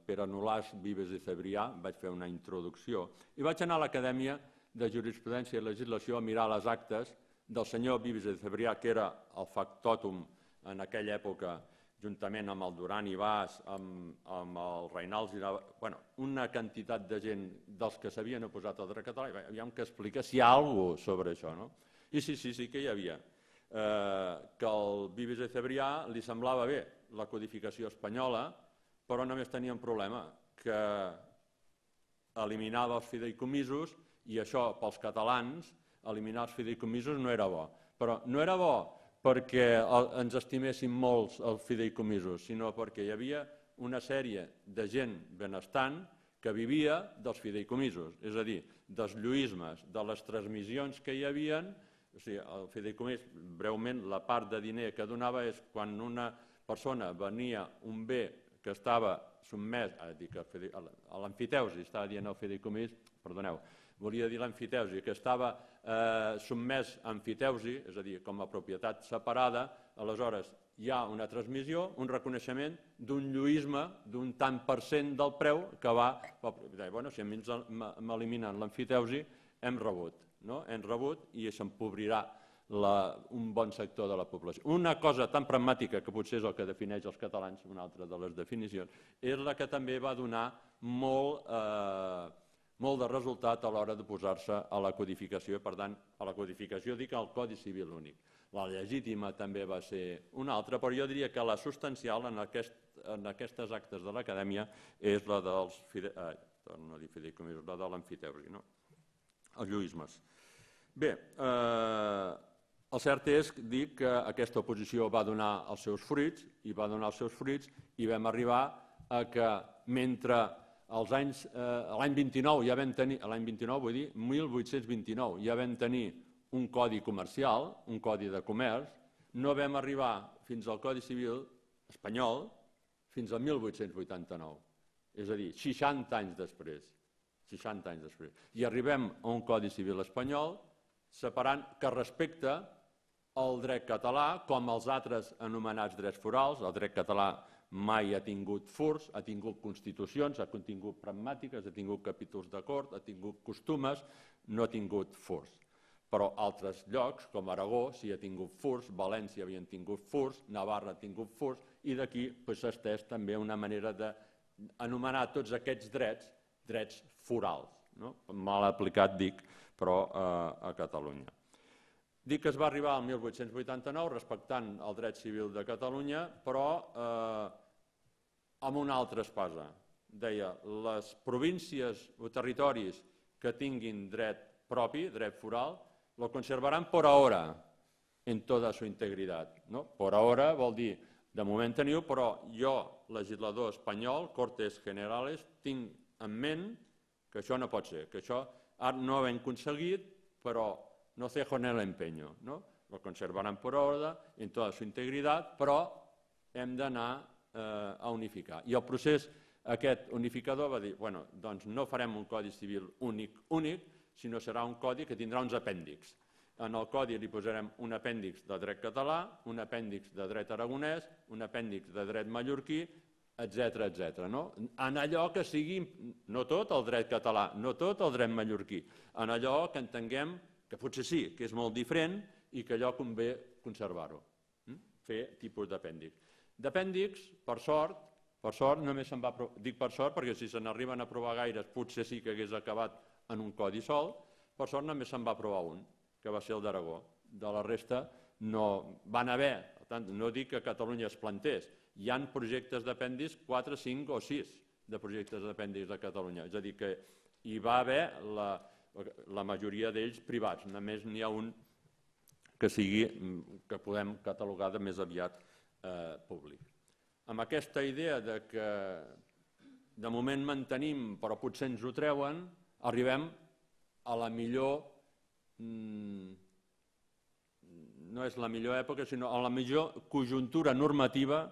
Pere Nolàs, Vives i Cebrià, vaig fer una introducció, i vaig anar a l'Acadèmia de Jurisprudència i Legislació a mirar les actes del senyor Vives i Cebrià, que era el factòtum en aquella època, juntament amb el Duran i Bas, amb el Reinals, una quantitat de gent dels que s'havien oposat al dret català, aviam que explica si hi ha alguna cosa sobre això. I sí que hi havia. Que al Vives i Cebrià li semblava bé la codificació espanyola, però només tenia un problema, que eliminava els fideïcomisos, i això pels catalans, eliminar els fideïcomisos no era bo. Però no era bo perquè ens estimessin molts els fideïcomisos, sinó perquè hi havia una sèrie de gent benestant que vivia dels fideïcomisos, és a dir, dels lluïsmes, de les transmissions que hi havia. O sigui, el fideïcomís, breument, la part de diner que donava és quan una persona venia un bé que estava sotmès, a l'emfiteusi, estava dient el fideïcomís, perdoneu, volia dir l'emfiteusi, que estava sotmès a emfiteusi, és a dir, com a propietat separada, aleshores hi ha una transmissió, un reconeixement d'un lluïsme d'un tant per cent del preu que va... Bueno, si a mi m'eliminen l'emfiteusi, hem rebut i s'empobrirà un bon sector de la població. Una cosa tan pragmàtica, que potser és el que defineix els catalans, una altra de les definicions, és la que també va donar molt de resultat a l'hora de posar-se a la codificació. Per tant, a la codificació dic el Codi Civil únic. La legítima també va ser una altra, però jo diria que la substancial en aquestes actes de l'Acadèmia és la dels fideïcomisos, la de l'emfiteusi, els lluïsmes. Bé, el cert és dir que aquesta oposició va donar els seus fruits i vam arribar a que mentre l'any 29 ja vam tenir, l'any 29 vull dir 1829, ja vam tenir un codi comercial, un codi de comerç, no vam arribar fins al Codi Civil espanyol fins al 1889, és a dir, 60 anys després. 60 anys després. I arribem a un Codi Civil espanyol separant que respecta el dret català com els altres anomenats drets forals. El dret català mai ha tingut furs, ha tingut constitucions, ha tingut pragmàtiques, ha tingut capítols d'acord, ha tingut costumes, no ha tingut furs. Però altres llocs, com Aragó, sí ha tingut furs, València havien tingut furs, Navarra ha tingut furs, i d'aquí s'ha estès també una manera d'anomenar tots aquests drets forals. Mal aplicat, dic, però a Catalunya. Dic que es va arribar al 1889 respectant el dret civil de Catalunya, però amb una altra espasa. Deia, les províncies o territoris que tinguin dret propi, dret foral, lo conservarán por ahora en toda su integridad. Por ahora vol dir, de moment teniu, però jo, legislador espanyol, Cortes Generales, tinc en ment que això no pot ser, que això no ho hem aconseguit, però no cejo en el empeño. Lo conservarán por ahora en toda su integridad, però hem d'anar a unificar. I el procés aquest unificador va dir, bueno, doncs no farem un codi civil únic, sinó serà un codi que tindrà uns apèndixs. En el codi li posarem un apèndix de dret català, un apèndix de dret aragonès, un apèndix de dret mallorquí, etc. En allò que sigui, no tot el dret català, no tot el dret mallorquí, en allò que entenguem que potser sí, que és molt diferent i que allò convé conservar-ho, fer tipus d'apèndix. D'apèndix, per sort només se'n va aprovar, dic per sort perquè si se n'arriben a aprovar gaires potser sí que hagués acabat en un codi sol, per sort només se'n va aprovar un, que va ser el d'Aragó. De la resta no van haver, per tant, no dic que a Catalunya es plantés, hi ha projectes d'apèndix, 4, 5 o 6 de projectes d'apèndix de Catalunya, és a dir, que hi va haver la majoria d'ells privats, només n'hi ha un que podem catalogar de més aviat públic. Amb aquesta idea que de moment mantenim però potser ens ho treuen, arribem a la millor, no és la millor època, sinó a la millor conjuntura normativa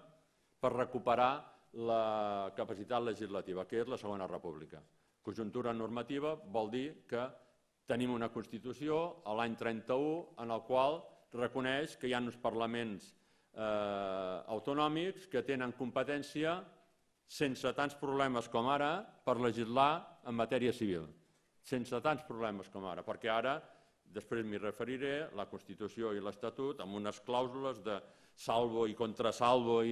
per recuperar la capacitat legislativa, que és la Segona República. Conjuntura normativa vol dir que tenim una Constitució a l'any 31 en el qual reconeix que hi ha uns parlaments autonòmics que tenen competència sense tants problemes com ara per legislar en matèria civil. Sense tants problemes com ara, perquè ara, després m'hi referiré, la Constitució i l'Estatut, amb unes clàusules de salvo i contrasalvo,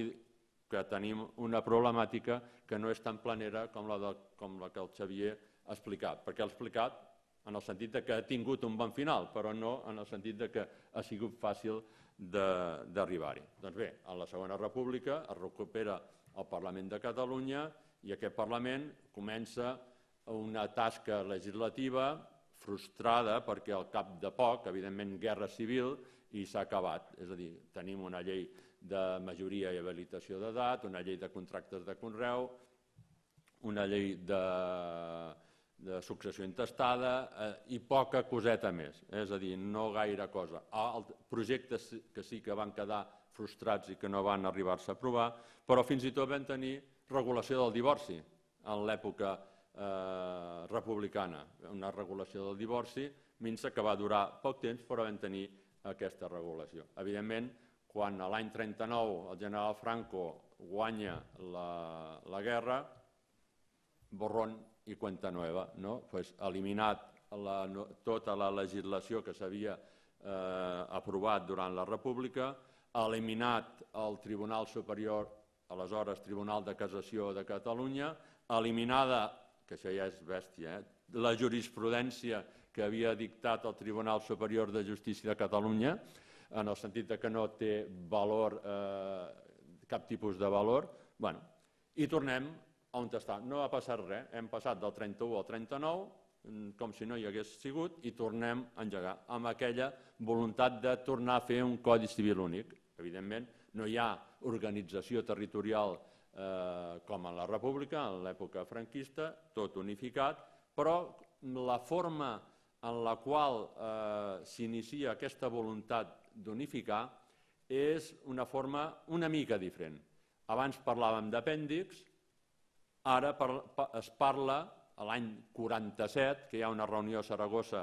que tenim una problemàtica que no és tan planera com la que el Xavier ha explicat, perquè ha explicat en el sentit que ha tingut un bon final, però no en el sentit que ha sigut fàcil d'arribar-hi. Doncs bé, a la Segona República es recupera el Parlament de Catalunya i aquest Parlament comença una tasca legislativa frustrada perquè al cap de poc, evidentment, guerra civil i s'ha acabat. És a dir, tenim una llei de majoria i habilitació d'edat, una llei de contractes de conreu, una llei de successió intestada i poca coseta més, és a dir, no gaire cosa. Projectes que sí que van quedar frustrats i que no van arribar-se a aprovar, però fins i tot vam tenir regulació del divorci en l'època republicana, una regulació del divorci minsa que va durar poc temps, però vam tenir aquesta regulació. Evidentment, quan a l'any 39 el general Franco guanya la guerra, borrón i cuenta nueva, eliminat tota la legislació que s'havia aprovat durant la República, eliminat el Tribunal Superior, aleshores Tribunal de Cassació de Catalunya, eliminada, que això ja és bèstia, la jurisprudència que havia dictat el Tribunal Superior de Justícia de Catalunya, en el sentit que no té valor, cap tipus de valor, i tornem on està. No ha passat res, hem passat del 31 al 39, com si no hi hagués sigut, i tornem a engegar amb aquella voluntat de tornar a fer un Codi Civil únic. Evidentment, no hi ha organització territorial com en la República, en l'època franquista, tot unificat, però la forma en la qual s'inicia aquesta voluntat d'unificar és una forma una mica diferent. Abans parlàvem d'apèndix, ara es parla, a l'any 47, que hi ha una reunió a Saragossa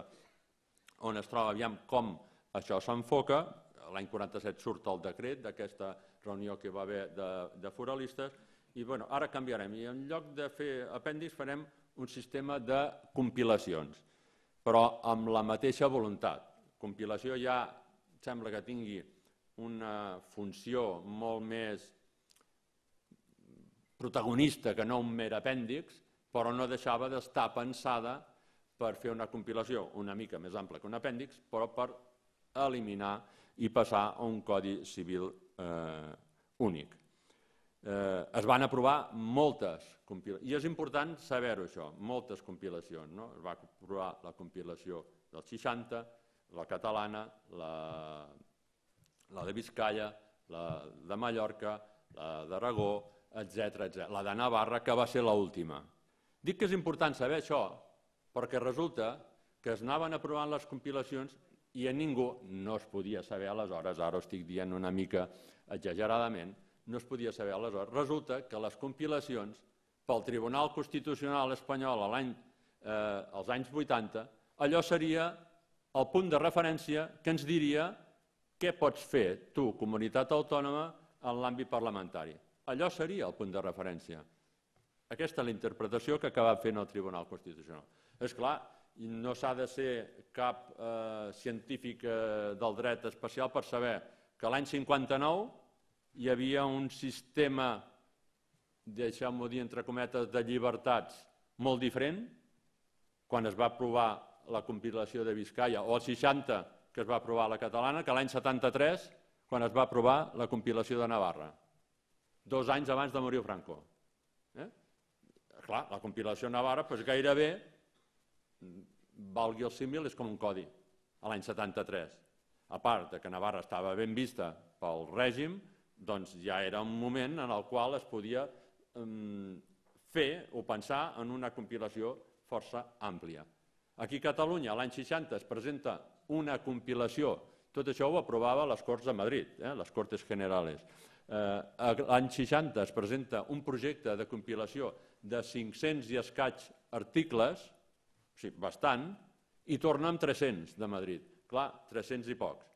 on es troba aviam com això s'enfoca, l'any 47 surt el decret d'aquesta reunió que va haver de foralistes, i ara canviarem, i en lloc de fer apèndix farem un sistema de compilacions, però amb la mateixa voluntat. Compilació ja sembla que tingui una funció molt més protagonista que no un mer apèndix, però no deixava d'estar pensada per fer una compilació una mica més ampla que un apèndix, però per eliminar i passar a un codi civil únic. Es van aprovar moltes compilacions, i és important saber-ho això, moltes compilacions. Es va aprovar la compilació del 60, la catalana, la de Biscaia, la de Mallorca, la d'Aragó, etc. La de Navarra, que va ser l'última. Dic que és important saber això perquè resulta que es anaven aprovant les compilacions i a ningú no es podia saber aleshores, ara ho estic dient una mica exageradament, no es podia saber aleshores. Resulta que les compilacions pel Tribunal Constitucional espanyol als anys 80, allò seria el punt de referència que ens diria què pots fer tu, comunitat autònoma, en l'àmbit parlamentari. Allò seria el punt de referència. Aquesta és la interpretació que acaba fent el Tribunal Constitucional. És clar, no s'ha de ser cap científic del dret especial per saber que l'any 59 hi havia un sistema, deixeu-m'ho dir entre cometes, de llibertats molt diferent, quan es va aprovar la compilació de Biscaia, o el 60, que es va aprovar la catalana, que l'any 73, quan es va aprovar la compilació de Navarra, 2 anys abans de morir Franco. Clar, la compilació Navarra gairebé, valgui el símil, és com un codi, a l'any 73. A part que Navarra estava ben vista pel règim, doncs ja era un moment en el qual es podia fer o pensar en una compilació força àmplia. Aquí a Catalunya, l'any 60, es presenta una compilació, tot això ho aprovava les Corts de Madrid, les Cortes Generales. L'any 60 es presenta un projecte de compilació de 500 i escaig articles, bastant, i torna amb 300 de Madrid. Clar, 300 i pocs.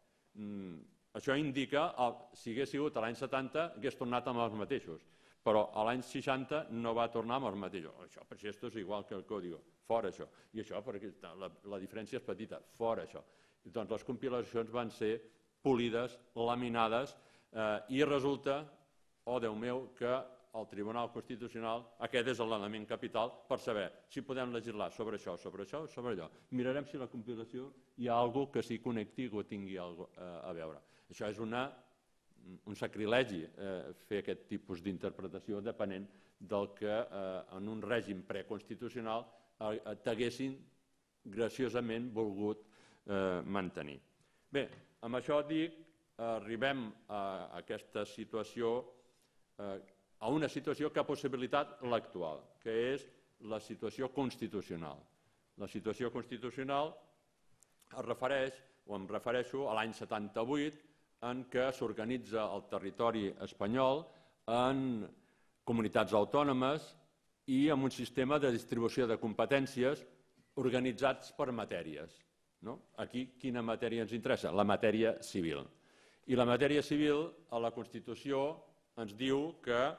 Això indica, si hagués sigut l'any 70, hagués tornat amb els mateixos, però l'any 60 no va tornar amb els mateixos. Això, per si esto és igual que el código, fora això. I això, perquè la diferència és petita, fora això. Doncs les compilacions van ser polides, laminades, i resulta, oh Déu meu, que el Tribunal Constitucional, aquest és l'element capital per saber si podem legislar sobre això, sobre això, sobre allò. Mirarem si la compilació hi ha alguna cosa que s'hi connecti o tingui alguna cosa a veure. Això és un sacrilegi, fer aquest tipus d'interpretació depenent del que en un règim preconstitucional t'haguessin graciosament volgut mantenir. Bé, amb això dic, arribem a aquesta situació, a una situació que ha possibilitat l'actual, que és la situació constitucional. La situació constitucional es refereix, o em refereixo, a l'any 78, en què s'organitza el territori espanyol en comunitats autònomes i amb un sistema de distribució de competències organitzats per matèries. Aquí, quina matèria ens interessa? La matèria civil. I la matèria civil, a la Constitució, ens diu que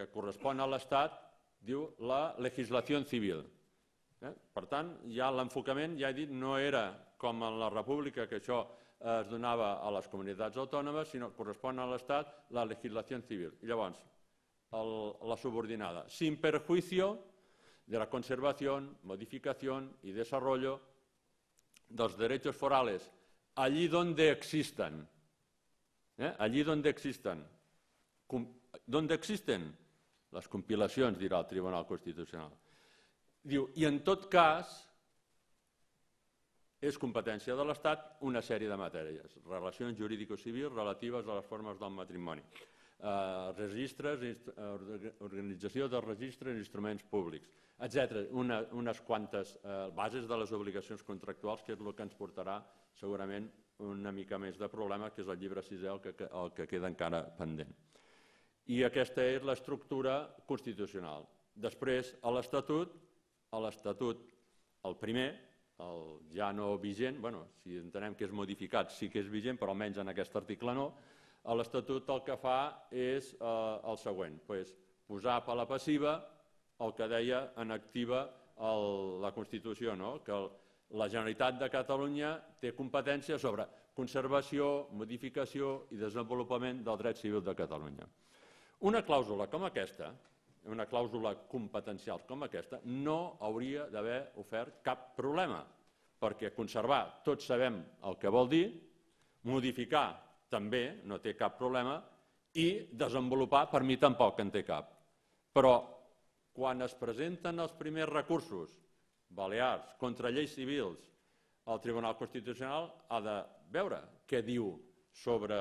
correspon a l'Estat, diu la legislació civil. Per tant, ja l'enfocament, ja he dit, no era com en la República, que això es donava a les comunitats autònomes, sinó que correspon a l'Estat la legislació civil. I llavors, la subordinada, sin perjuicio de la conservación, modificación y desarrollo dels derechos forales allí donde existan. Allí donde existan. ¿Dónde existen? Les compilacions, dirà el Tribunal Constitucional. Diu, i en tot cas, és competència de l'Estat una sèrie de matèries, relacions jurídico-civils relatives a les formes del matrimoni. registres, organització de registres i instruments públics, etc. Unes quantes bases de les obligacions contractuals, que és el que ens portarà segurament una mica més de problema, que és el llibre sisè el que queda encara pendent. I aquesta és l'estructura constitucional. Després, a l'Estatut, el primer, el ja no vigent, si entenem que és modificat sí que és vigent, però almenys en aquest article no, l'Estatut el que fa és el següent, posar per la passiva el que deia en activa la Constitució, que la Generalitat de Catalunya té competència sobre conservació, modificació i desenvolupament del dret civil de Catalunya. Una clàusula com aquesta, una clàusula competencial com aquesta, no hauria d'haver ofert cap problema, perquè conservar tots sabem el que vol dir, modificar també no té cap problema i desenvolupar per mi tampoc en té cap. Però quan es presenten els primers recursos balears contra lleis civils, el Tribunal Constitucional ha de veure què diu sobre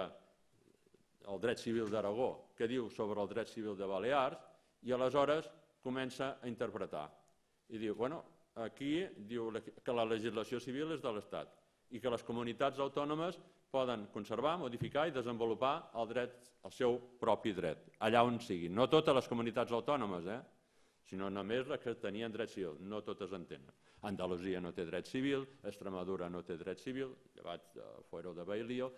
el dret civil d'Aragó, què diu sobre el dret civil de Balears, i aleshores comença a interpretar. I diu, aquí diu que la legislació civil és de l'Estat i que les comunitats autònomes poden conservar, modificar i desenvolupar el seu propi dret, allà on sigui. No totes les comunitats autònomes, sinó només les que tenien dret civil, no totes en tenen. Andalusia no té dret civil, Extremadura no té dret civil, llevat de Fuero de Bailío,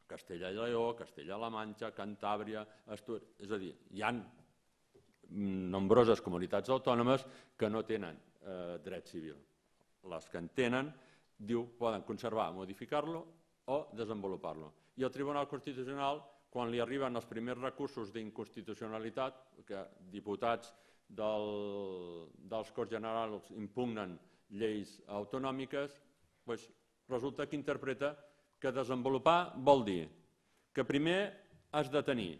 Castella i Lleó, Castella-La Manxa, Cantàbria, Astúries... És a dir, hi ha nombroses comunitats autònomes que no tenen dret civil. Les que en tenen, diu, poden conservar, modificar-lo o desenvolupar-lo. I el Tribunal Constitucional, quan li arriben els primers recursos d'inconstitucionalitat, que diputats dels Corts Generals impugnen lleis autonòmiques, resulta que interpreta que desenvolupar vol dir que primer has de tenir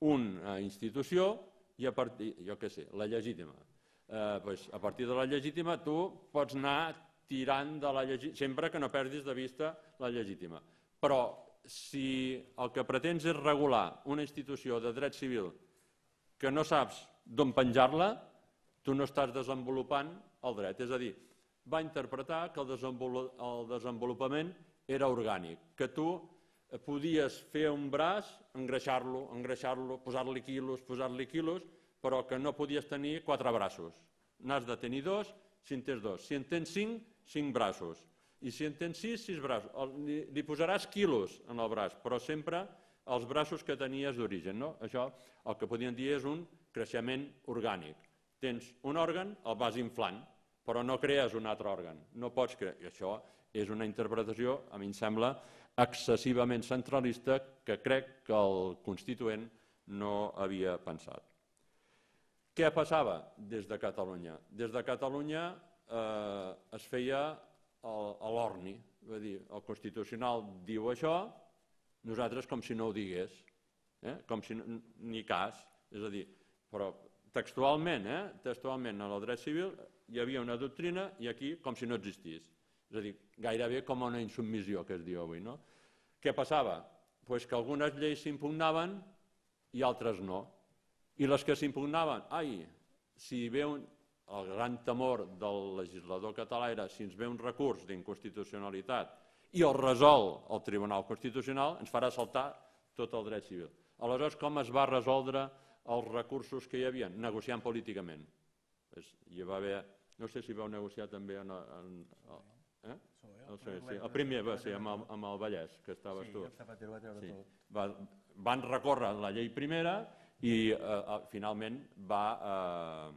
una institució i a partir, la legítima. A partir de la legítima tu pots anar tirant de la legítima, sempre que no perdis de vista la legítima. Però si el que pretens és regular una institució de dret civil que no saps d'on penjar-la, tu no estàs desenvolupant el dret. És a dir, va interpretar que el desenvolupament era orgànic, que tu podies fer un braç, engreixar-lo, posar-li quilos, però que no podies tenir 4 braços. N'has de tenir 2, si en tens 2. Si en tens 5, 5 braços. I si en tens 6, 6 braços. Li posaràs quilos en el braç, però sempre els braços que tenies d'origen. Això el que podríem dir és un creixement orgànic. Tens un òrgan, el vas inflant, però no crees un altre òrgan. No pots crear. I això és una interpretació, a mi em sembla, excessivament centralista que crec que el Constituent no havia pensat. Què passava des de Catalunya? Des de Catalunya es feia a l'orni. El Constitucional diu això, nosaltres com si no ho digués, com si ni cas. És a dir, però textualment en el dret civil hi havia una doctrina i aquí com si no existís. És a dir, gairebé com una insubmissió que es diu avui. Què passava? Que algunes lleis s'impugnaven i altres no. I les que s'impugnaven, si ve el gran temor del legislador català era si ens ve un recurs d'inconstitucionalitat i el resol el Tribunal Constitucional, ens farà saltar tot el dret civil. Aleshores, com es va resoldre els recursos que hi havia? Negociant políticament. Hi va haver, no sé si vau negociar també el primer va ser amb el Vallès, que estaves tu. Van recórrer la llei primera i finalment va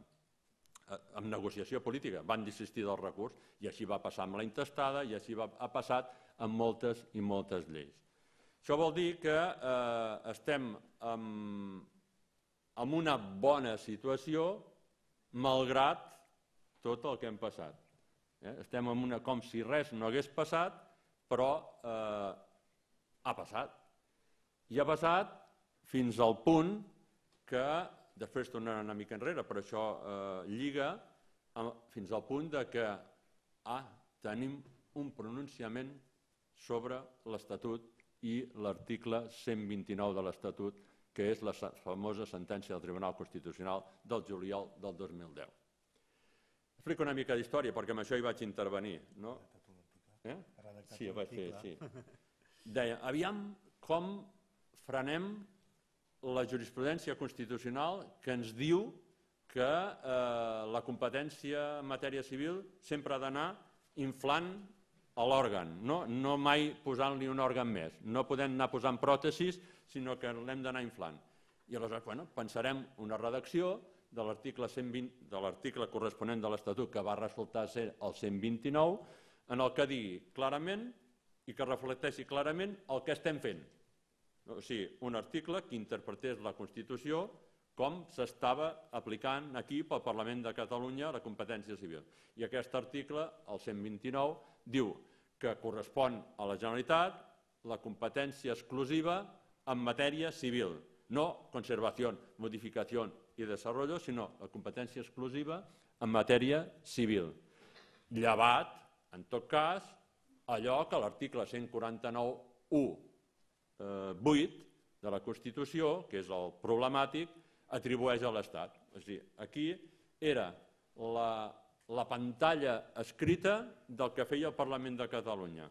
amb negociació política, van desistir del recurs i així va passar amb la intestada i així ha passat amb moltes i moltes lleis. Això vol dir que estem en una bona situació malgrat tot el que hem passat. Estem en una com si res no hagués passat, però ha passat. I ha passat fins al punt que, després tornarà una mica enrere, però això lliga fins al punt que tenim un pronunciament sobre l'Estatut i l'article 129 de l'Estatut, que és la famosa sentència del Tribunal Constitucional del juliol del 2010. Explico una mica d'història, perquè amb això hi vaig intervenir. Sí, ho vaig fer, sí. Deia, aviam com frenem la jurisprudència constitucional que ens diu que la competència en matèria civil sempre ha d'anar inflant a l'òrgan, no mai posant-li un òrgan més. No podem anar posant pròtesis, sinó que l'hem d'anar inflant. I aleshores pensarem una redacció de l'article corresponent de l'Estatut, que va resultar ser el 129, en el que digui clarament i que reflecteixi clarament el que estem fent. O sigui, un article que interpretés la Constitució com s'estava aplicant aquí pel Parlament de Catalunya la competència civil. I aquest article, el 129, diu que correspon a la Generalitat la competència exclusiva en matèria civil, no conservació, modificació i desenvolupament, sinó la competència exclusiva en matèria civil. Llevat, en tot cas, allò que l'article 149.1.8 de la Constitució, que és el problemàtic, atribueix a l'Estat. És a dir, aquí era la pantalla escrita del que feia el Parlament de Catalunya.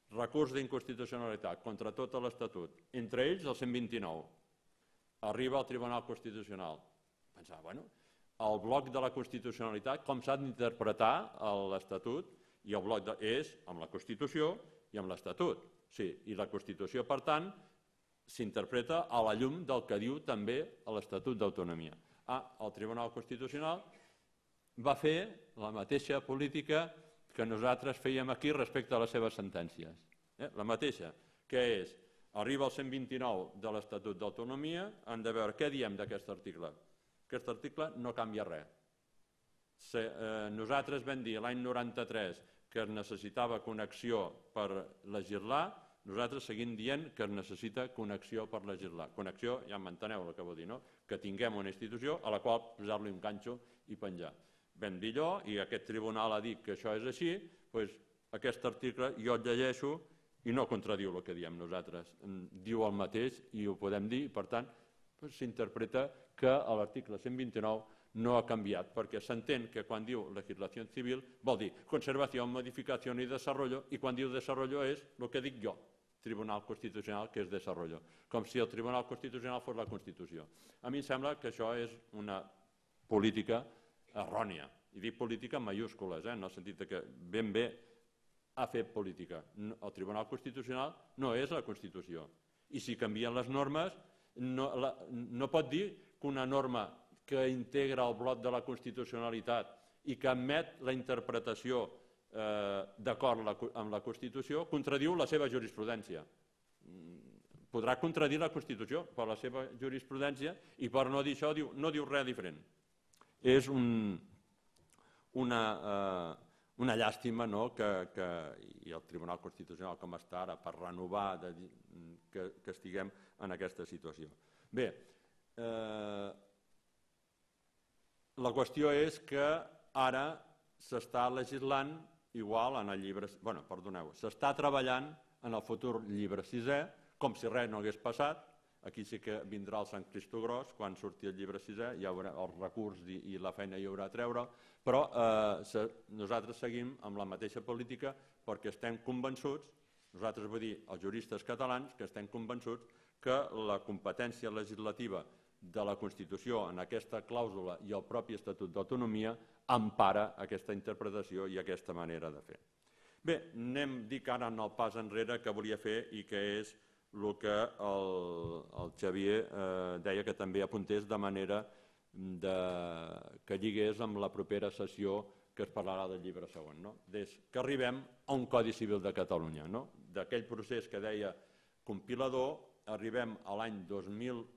Recurs d'inconstitucionalitat contra tot l'Estatut, entre ells el 129. Arriba al Tribunal Constitucional. Pensava, el bloc de la constitucionalitat, com s'ha d'interpretar l'Estatut, i el bloc és amb la Constitució i amb l'Estatut. Sí, i la Constitució, per tant, s'interpreta a la llum del que diu també l'Estatut d'Autonomia. El Tribunal Constitucional va fer la mateixa política que nosaltres fèiem aquí respecte a les seves sentències. La mateixa, que és, arriba el 129 de l'Estatut d'Autonomia, hem de veure què diem d'aquest article. Aquest article no canvia res. Nosaltres vam dir l'any 93 que es necessitava connexió per legislar, nosaltres seguim dient que es necessita connexió per legislar. Connexió, ja m'enteneu el que vol dir, no? Que tinguem una institució a la qual posar-li un ganxo i penjar. Vam dir allò i aquest tribunal ha dit que això és així, doncs aquest article jo el llegeixo i no contradiu el que diem nosaltres. Diu el mateix i ho podem dir i per tant s'interpreta que l'article 129 no ha canviat perquè s'entén que quan diu legislació civil vol dir conservació, modificació i desenvolupament i quan diu desenvolupament és el que dic jo, Tribunal Constitucional, que és desenvolupament. Com si el Tribunal Constitucional fos la Constitució. A mi em sembla que això és una política errònia. I dic política en majúscules, en el sentit que ben bé ha fet política. El Tribunal Constitucional no és la Constitució. I si canvien les normes, no pot dir que una norma que integra el bloc de la constitucionalitat i que admet la interpretació d'acord amb la Constitució contradiu la seva jurisprudència. Podrà contradir la Constitució per la seva jurisprudència i per no dir això no diu res diferent. És una llàstima i el Tribunal Constitucional com està ara per renovar que estiguem en aquesta situació. Bé, la qüestió és que ara s'està legislant igual en el llibre... s'està treballant en el futur llibre sisè, com si res no hagués passat. Aquí sí que vindrà el Sant Cristogros, quan surti el llibre sisè, hi haurà el recurs i la feina hi haurà a treure, però nosaltres seguim amb la mateixa política perquè estem convençuts, nosaltres vull dir els juristes catalans, que estem convençuts que la competència legislativa de la Constitució en aquesta clàusula i el propi Estatut d'Autonomia empara aquesta interpretació i aquesta manera de fer. Bé, dic ara en el pas enrere que volia fer i que és el que el Xavier deia que també apuntés de manera que lligués amb la propera sessió que es parlarà del llibre segon. Des que arribem a un Codi Civil de Catalunya. D'aquell procés que deia compilador, arribem a l'any 2001,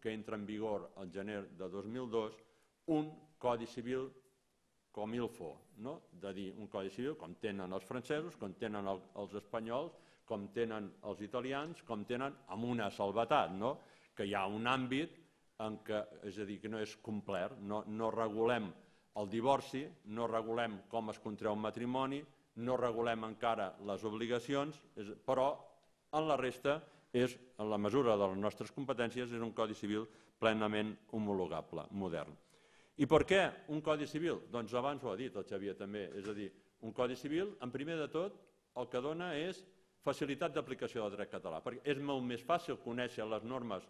que entra en vigor el gener de 2002, un Codi Civil com il faut, de dir un Codi Civil com tenen els francesos, com tenen els espanyols, com tenen els italians, com tenen amb una salvetat, que hi ha un àmbit en què, és a dir, que no és complet, no regulem el divorci, no regulem com es contreu un matrimoni, no regulem encara les obligacions, però En la resta, en la mesura de les nostres competències, és un codi civil plenament homologable, modern. I per què un codi civil? Doncs abans ho ha dit el Xavier també, és a dir, un codi civil, en primer de tot, el que dona és facilitat d'aplicació del dret català, perquè és molt més fàcil conèixer les normes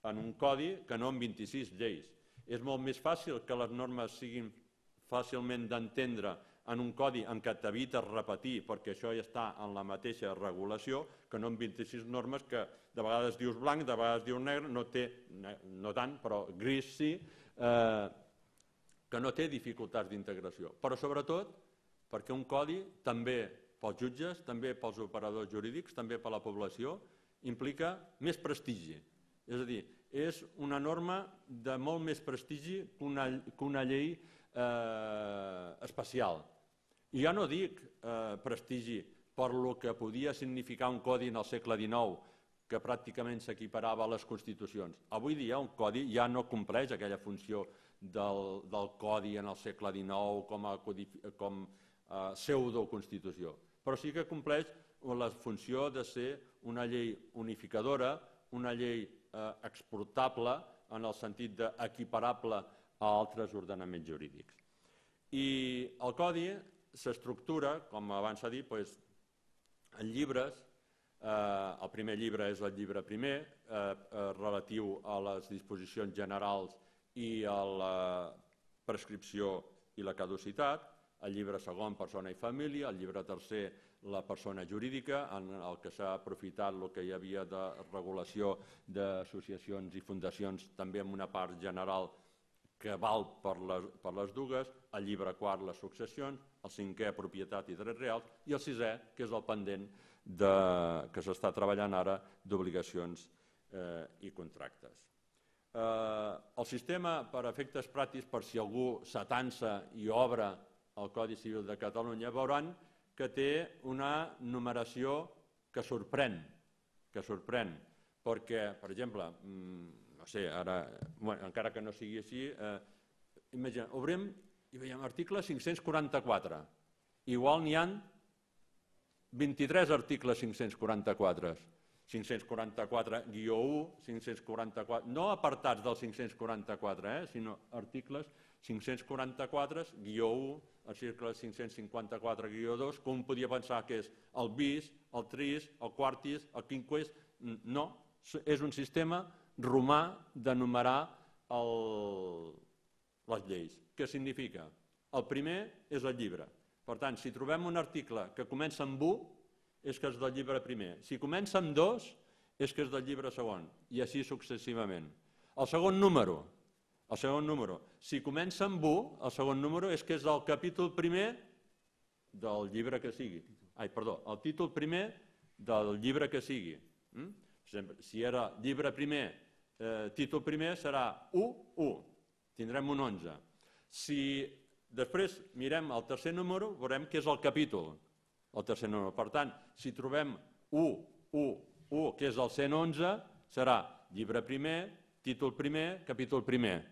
en un codi que no en 26 lleis. És molt més fàcil que les normes siguin fàcilment d'entendre en un codi en què t'evites repetir, perquè això ja està en la mateixa regulació, que no en 26 normes que de vegades dius blanc, de vegades dius negre, no tant, però gris sí, que no té dificultats d'integració. Però sobretot perquè un codi també pels jutges, també pels operadors jurídics, també per la població, implica més prestigi. És a dir, és una norma de molt més prestigi que una llei especial. I ja no dic prestigi per lo que podia significar un codi en el segle XIX, que pràcticament s'equiparava a les constitucions. Avui dia un codi ja no compleix aquella funció del codi en el segle XIX com a pseudoconstitució, però sí que compleix la funció de ser una llei unificadora, una llei exportable en el sentit d'equiparable a altres ordenaments jurídics. I el codi s'estructura, com abans s'ha dit, en llibres. El primer llibre és el llibre primer, relatiu a les disposicions generals i a la prescripció i la caducitat. El llibre segon, persona i família. El llibre tercer, la persona jurídica, en el que s'ha aprofitat el que hi havia de regulació d'associacions i fundacions, també amb una part general que val per les dues. El llibre quart, les successions. El cinquè, propietat i drets reals. I el sisè, que és el pendent que s'està treballant ara d'obligacions i contractes. El sistema, per efectes pràctics, per si algú s'atansa i obre el Codi Civil de Catalunya, veuran que té una numeració que sorprèn, perquè, per exemple, no sé, ara, encara que no sigui així, imagina, obrim i veiem article 544, igual n'hi ha 23 articles 544, 544-1, 544, no apartats del 544, sinó articles 544-1, article 554-2, com podia pensar que és el bis, el tris, el quartis, el quinquis. No, és un sistema romà de numerar les lleis. Què significa? El primer és el llibre. Per tant, si trobem un article que comença amb 1, és que és del llibre primer. Si comença amb 2, és que és del llibre segon, i així successivament. El segon número, si comença amb 1, el segon número és que és del capítol primer del llibre que sigui. El títol primer del llibre que sigui. Si era llibre primer, títol primer serà 1, tindrem un 11. Si després mirem el tercer número, veurem que és el capítol, el tercer número. Per tant, si trobem 1, que és el 111, serà llibre primer, títol primer, capítol primer.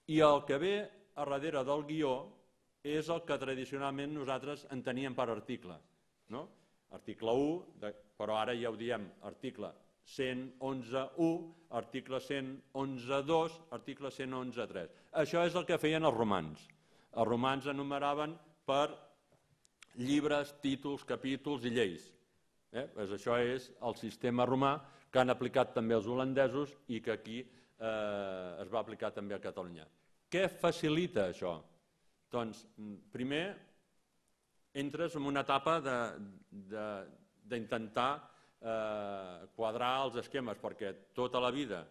I el que ve a darrere del guió és el que tradicionalment nosaltres enteníem per article. Article 1, però ara ja ho diem, article 111.1, article 111.2, article 111.3. Això és el que feien els romans. Els romans enumeraven per llibres, títols, capítols i lleis. Això és el sistema romà que han aplicat també els holandesos i que aquí es va aplicar també a Catalunya. Què facilita això? Doncs, primer, entres en una etapa d'intentar quadrar els esquemes, perquè tota la vida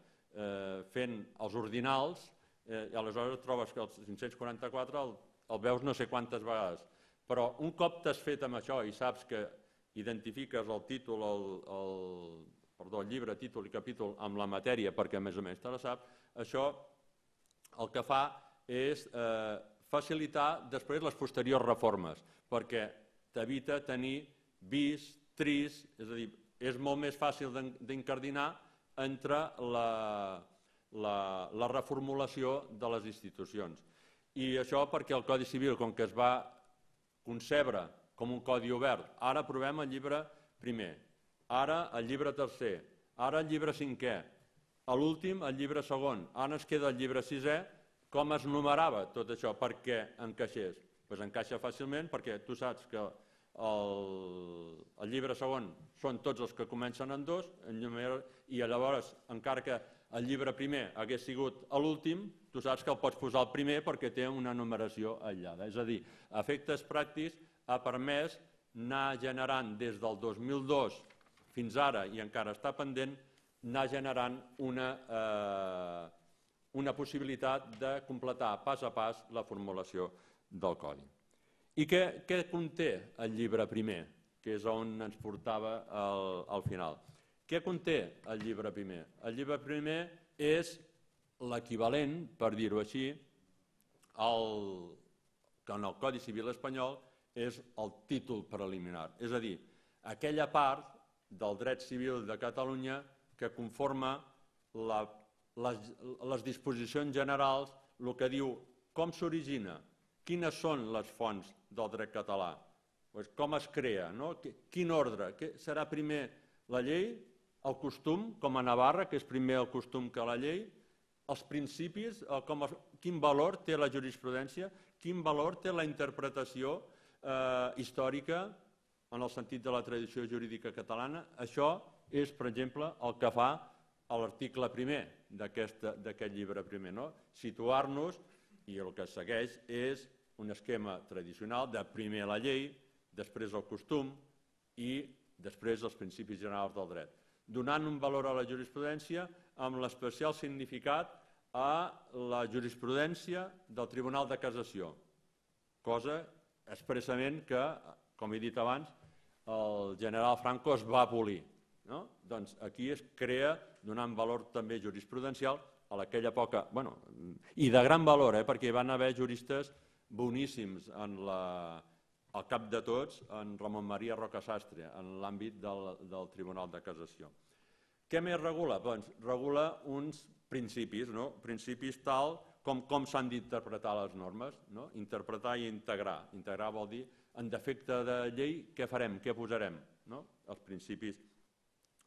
fent els ordinals, i aleshores trobes que el 544 el veus no sé quantes vegades. Però un cop t'has fet amb això i saps que identifiques el títol, el llibre, títol i capítol amb la matèria, perquè més o menys te la saps, això el que fa és facilitar després les posteriors reformes, perquè t'evita tenir bis, tris, és a dir, és molt més fàcil d'incardinar entre la reformulació de les institucions. I això perquè el Codi Civil, com que es va concebre com un codi obert, ara aprovem el llibre primer. ara el llibre tercer, ara el llibre cinquè, a l'últim el llibre segon, ara ens queda el llibre sisè. Com es numerava tot això perquè encaixés? Doncs encaixa fàcilment perquè tu saps que el llibre segon són tots els que comencen en 2 i llavors, encara que el llibre primer hagués sigut a l'últim, tu saps que el pots posar al primer perquè té una numeració aïllada. És a dir, a efectes pràctics ha permès anar generant des del 2002 fins ara, i encara està pendent, anar generant una possibilitat de completar pas a pas la formulació del codi. I què conté el llibre primer, que és on ens portava al final? Què conté el llibre primer? El llibre primer és l'equivalent, per dir-ho així, que en el Codi Civil espanyol és el títol preliminar. És a dir, aquella part del dret civil de Catalunya que conforma les disposicions generals, el que diu com s'origina, quines són les fonts del dret català, com es crea, quin ordre, serà primer la llei, el costum, com a Navarra, que és primer el costum que la llei, els principis, quin valor té la jurisprudència, quin valor té la interpretació històrica en el sentit de la tradició jurídica catalana. Això és, per exemple, el que fa l'article primer d'aquest llibre primer. Situar-nos, i el que segueix és un esquema tradicional de primer la llei, després el costum i després els principis generals del dret, donant un valor a la jurisprudència amb l'especial significat a la jurisprudència del Tribunal de Cassació, cosa expressament que, com he dit abans, el general Franco es va abolir. Doncs aquí es crea donant valor també jurisprudencial a aquella època, i de gran valor, perquè hi van haver juristes boníssims al cap de tots, en Ramon Maria Rocasastre, en l'àmbit del Tribunal de Cassació. Què més regula? Doncs regula uns principis, principis tal com s'han d'interpretar les normes, interpretar i integrar. Integrar vol dir, en defecte de llei, què farem, què posarem? Els principis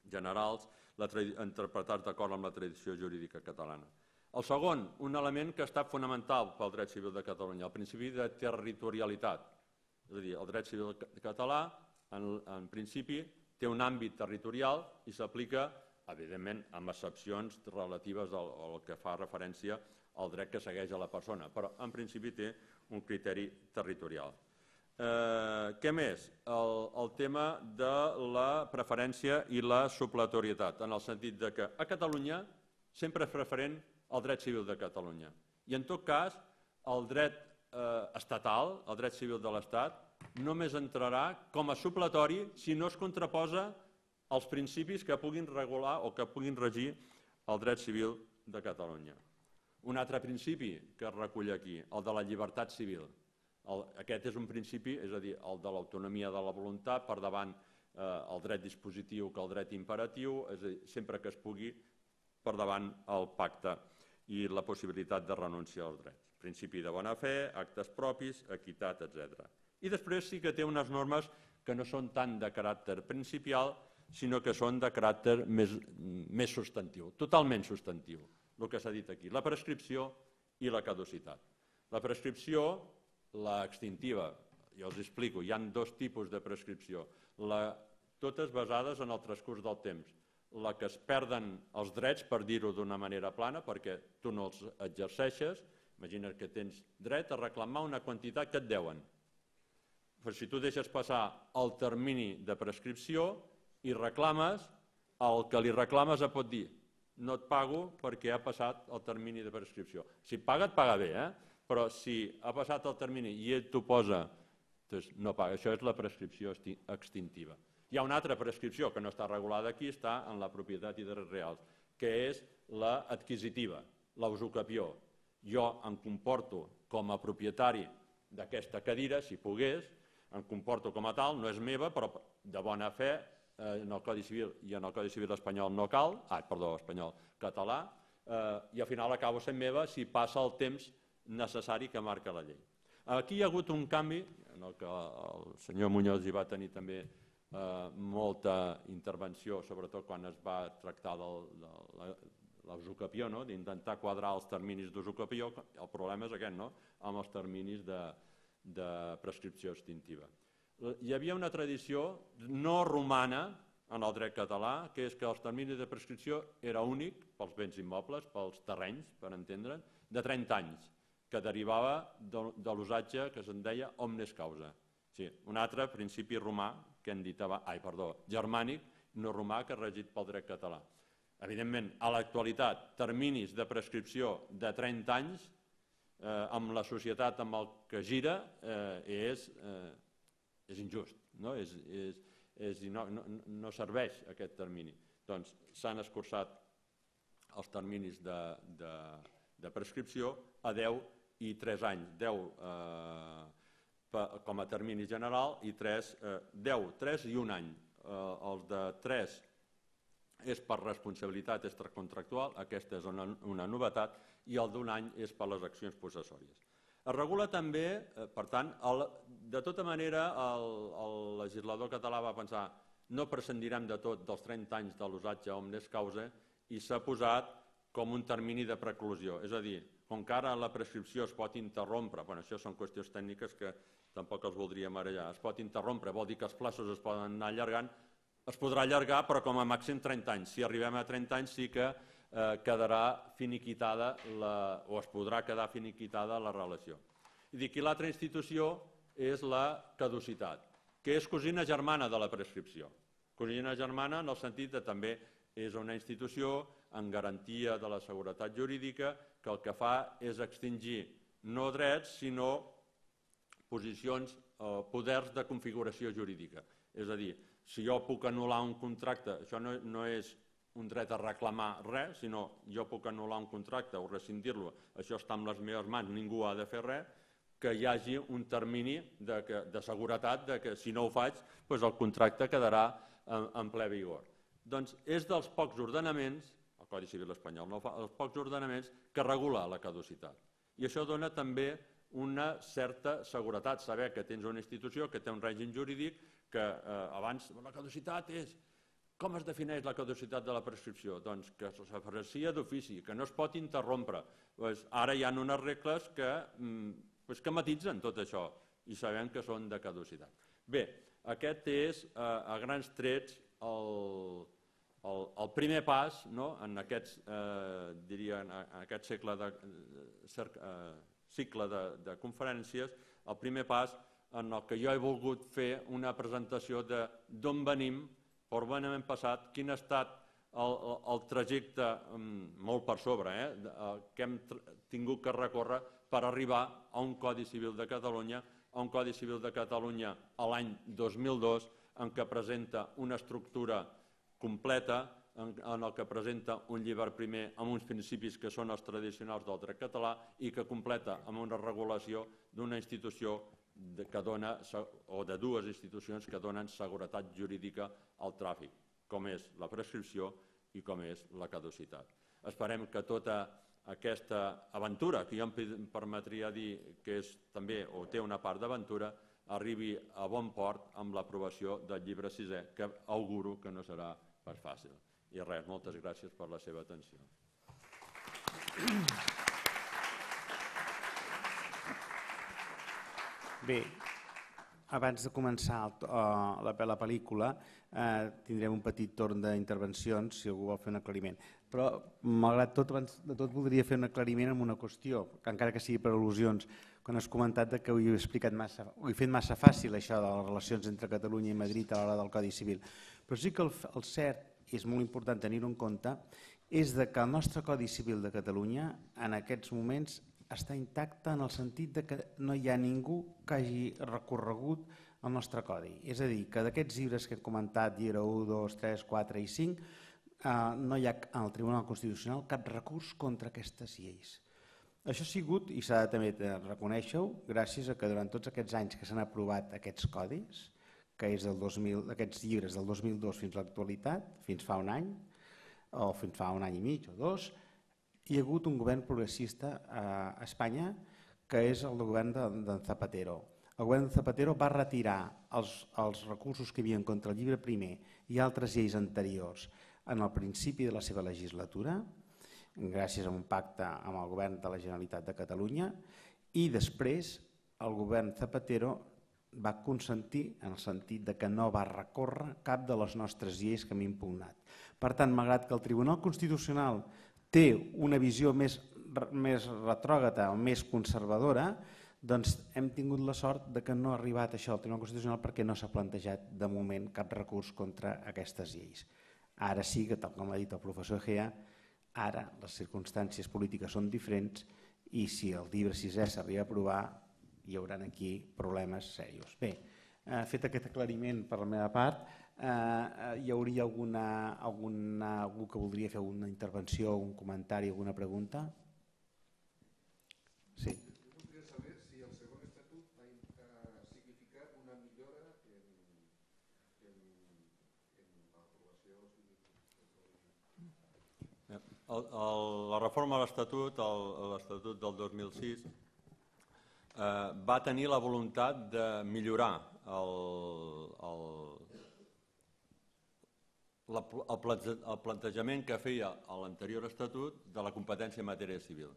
generals interpretats d'acord amb la tradició jurídica catalana. El segon, un element que ha estat fonamental pel dret civil de Catalunya, el principi de territorialitat. És a dir, el dret civil català, en principi, té un àmbit territorial i s'aplica, evidentment, amb excepcions relatives al que fa referència al dret que segueix a la persona, però en principi té un criteri territorial. Què més? El tema de la preferència i la supletorietat, en el sentit que a Catalunya sempre és preferent el dret civil de Catalunya. I en tot cas, el dret estatal, el dret civil de l'Estat, només entrarà com a supletori si no es contraposa als principis que puguin regular o que puguin regir el dret civil de Catalunya. Un altre principi que es recull aquí, el de la llibertat civil. Aquest és un principi, és a dir, el de l'autonomia de la voluntat per davant el dret dispositiu que el dret imperatiu, és a dir, sempre que es pugui per davant el pacte i la possibilitat de renúncia als drets. Principi de bona fe, actes propis, equitat, etc. I després sí que té unes normes que no són tant de caràcter principial, sinó que són de caràcter més substantiu, totalment substantiu, el que s'ha dit aquí, la prescripció i la caducitat. La prescripció, la extintiva, ja us explico, hi ha dos tipus de prescripció, totes basades en el transcurs del temps. La que es perden els drets, per dir-ho d'una manera plana, perquè tu no els exerceixes, imagina que tens dret a reclamar una quantitat que et deuen. Però si tu deixes passar el termini de prescripció i reclames, el que li reclames et pot dir no et pago perquè ha passat el termini de prescripció. Si et paga, et paga bé, però si ha passat el termini i ell t'ho posa, doncs no paga. Això és la prescripció extintiva. Hi ha una altra prescripció que no està regulada aquí, està en la propietat i drets reals, que és l'adquisitiva, la usucapió. Jo em comporto com a propietari d'aquesta cadira, si pogués, em comporto com a tal, no és meva, però de bona fe, en el Codi Civil i en el Codi Civil espanyol no cal, espanyol, català, i al final acabo sent meva si passa el temps necessari que marca la llei. Aquí hi ha hagut un canvi, en el que el senyor Muñoz hi va tenir també molta intervenció, sobretot quan es va tractar de l'usucapió, d'intentar quadrar els terminis d'usucapió. El problema és aquest, amb els terminis de prescripció extintiva. Hi havia una tradició no romana en el dret català, que és que els terminis de prescripció era únic pels béns immobles, pels terrenys, per entendre'n, de 30 anys, que derivava de l'usatge que se'n deia omnes causa. Sí, un altre principi romà, que hem dit germànic, no romà, que és regit pel dret català. Evidentment, a l'actualitat, terminis de prescripció de 30 anys, amb la societat amb el que gira, és injust, no serveix aquest termini. Doncs s'han escurçat els terminis de prescripció a 10 i 3 anys. 10 com a termini general i 10, 3 i 1 any. Els de 3 és per responsabilitat extracontractual, aquesta és una novetat, i el d'1 any és per les accions possessòries. Es regula també, per tant, de tota manera el legislador català va pensar no prescindirem de tot dels 30 anys de l'usatge omnes causa i s'ha posat com un termini de preclusió. És a dir, com que ara la prescripció es pot interrompre, això són qüestions tècniques que tampoc els voldria marejar, es pot interrompre, vol dir que els plaços es poden anar allargant, es podrà allargar però com a màxim 30 anys. Si arribem a 30 anys sí que quedarà finiquitada o es podrà quedar finiquitada la relació. I l'altra institució és la caducitat, que és cosina germana de la prescripció. Cosina germana en el sentit que també és una institució en garantia de la seguretat jurídica que el que fa és extingir no drets sinó posicions o poders de configuració jurídica. És a dir, si jo puc anul·lar un contracte, això no és un dret a reclamar res, sinó jo puc anul·lar un contracte o rescindir-lo, això està en les meves mans, ningú ha de fer res, que hi hagi un termini de seguretat que si no ho faig, el contracte quedarà en ple vigor. Doncs és dels pocs ordenaments, el Codi Civil espanyol no ho fa, els pocs ordenaments que regula la caducitat. I això dona també una certa seguretat, saber que tens una institució que té un règim jurídic que abans la caducitat és... Com es defineix la caducitat de la prescripció? Doncs que s'aprecia d'ofici, que no es pot interrompre. Ara hi ha unes regles que matitzen tot això i sabem que són de caducitat. Bé, aquest és a grans trets el primer pas en aquest cicle de conferències, el primer pas en el que jo he volgut fer una presentació d'on venim, per on hem passat, quin ha estat el trajecte, molt per sobre, que hem tingut que recórrer per arribar a un Codi Civil de Catalunya, a un Codi Civil de Catalunya a l'any 2002, en què presenta una estructura completa, en el que presenta un llibre primer amb uns principis que són els tradicionals del dret català i que completa amb una regulació d'una institució que dona, o de dues institucions que donen seguretat jurídica al tràfic, com és la prescripció i com és la caducitat. Esperem que tota aquesta aventura, que jo em permetria dir que és també o té una part d'aventura, arribi a bon port amb l'aprovació del llibre sisè, que auguro que no serà pas fàcil. I res, moltes gràcies per la seva atenció. Bé, abans de començar la pel·lícula tindrem un petit torn d'intervencions si algú vol fer un aclariment. Però, malgrat tot, abans de tot voldria fer un aclariment en una qüestió, que encara que sigui per al·lusions, quan has comentat que ho he fet massa fàcil, això de les relacions entre Catalunya i Madrid a l'hora del Codi Civil. Però sí que el cert, i és molt important tenir-ho en compte, és que el nostre Codi Civil de Catalunya en aquests moments està intacte en el sentit que no hi ha ningú que hagi recorregut el nostre codi. És a dir, que d'aquests llibres que he comentat, llibre 1, 2, 3, 4 i 5, no hi ha al Tribunal Constitucional cap recurs contra aquestes lleis. Això ha sigut, i s'ha de també reconèixer-ho, gràcies a que durant tots aquests anys que s'han aprovat aquests codis, que és d'aquests llibres del 2002 fins a l'actualitat, fins fa un any, o fins fa un any i mig o dos, hi ha hagut un govern progressista a Espanya que és el govern de Zapatero. el govern de Zapatero va retirar els recursos que hi havia contra el llibre primer i altres lleis anteriors en el principi de la seva legislatura, gràcies a un pacte amb el govern de la Generalitat de Catalunya, i després el govern Zapatero va consentir en el sentit de que no va recórrer cap de les nostres lleis que hem impugnat. Per tant, malgrat que el Tribunal Constitucional té una visió més retrògrada o més conservadora, doncs hem tingut la sort de que no ha arribat això al Tribunal Constitucional perquè no s'ha plantejat de moment cap recurs contra aquestes lleis. Ara sí que, tal com ha dit el professor Egea, ara les circumstàncies polítiques són diferents i si el llibre sisè s'arriba a aprovar hi haurà aquí problemes serios. Bé, fet aquest aclariment per la meva part, hi hauria algú que voldria fer una intervenció, un comentari, alguna pregunta? Sí. Jo voldria saber si el segon estatut ha significat una millora en l'aprovació. La reforma de l'Estatut, l'Estatut del 2006, va tenir la voluntat de millorar el plantejament que feia l'anterior Estatut de la competència en matèria civil.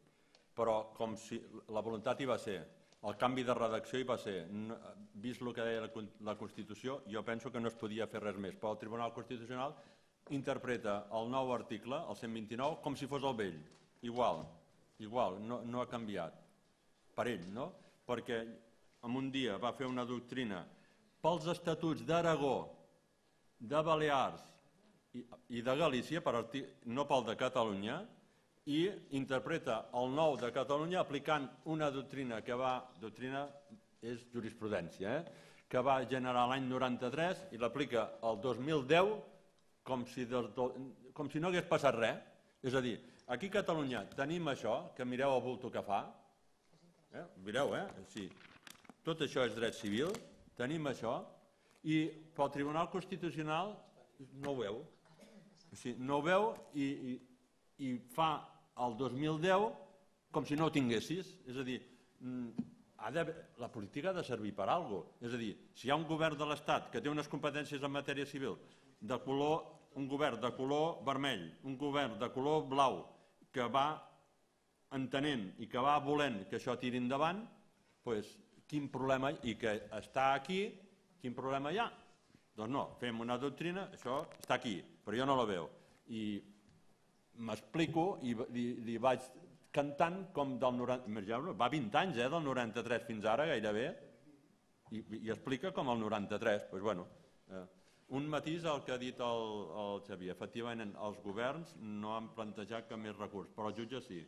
Però com si la voluntat hi va ser, el canvi de redacció hi va ser, vist el que deia la Constitució, jo penso que no es podia fer res més, però el Tribunal Constitucional interpreta el nou article, el 129, com si fos el vell, igual, no ha canviat, per ell, no? Perquè en un dia va fer una doctrina pels estatuts d'Aragó, de Balears i de Galícia, no pel de Catalunya, i interpreta el nou de Catalunya aplicant una doctrina doctrina és jurisprudència, que va generar l'any 93 i l'aplica el 2010 com si no hagués passat res. És a dir, aquí a Catalunya tenim això, que mireu el bulto que fa, mireu, sí, tot això és dret civil, tenim això, i pel Tribunal Constitucional no ho veu. No ho veu i fa el 2010 com si no ho tinguessis. És a dir, la política ha de servir per alguna cosa. És a dir, si hi ha un govern de l'Estat que té unes competències en matèria civil, un govern de color vermell, un govern de color blau, que va entenent i que va volent que això tiri endavant, doncs quin problema, i que està aquí, quin problema hi ha? Doncs no, fem una doctrina, això està aquí, però jo no la veu. I m'explico i li vaig cantant com del 90... Va 20 anys, del 93 fins ara, gairebé, i explica com el 93. Doncs bueno, un matís al que ha dit el Xavier. Efectivament, els governs no han plantejat cap més recurs, però els jutges sí.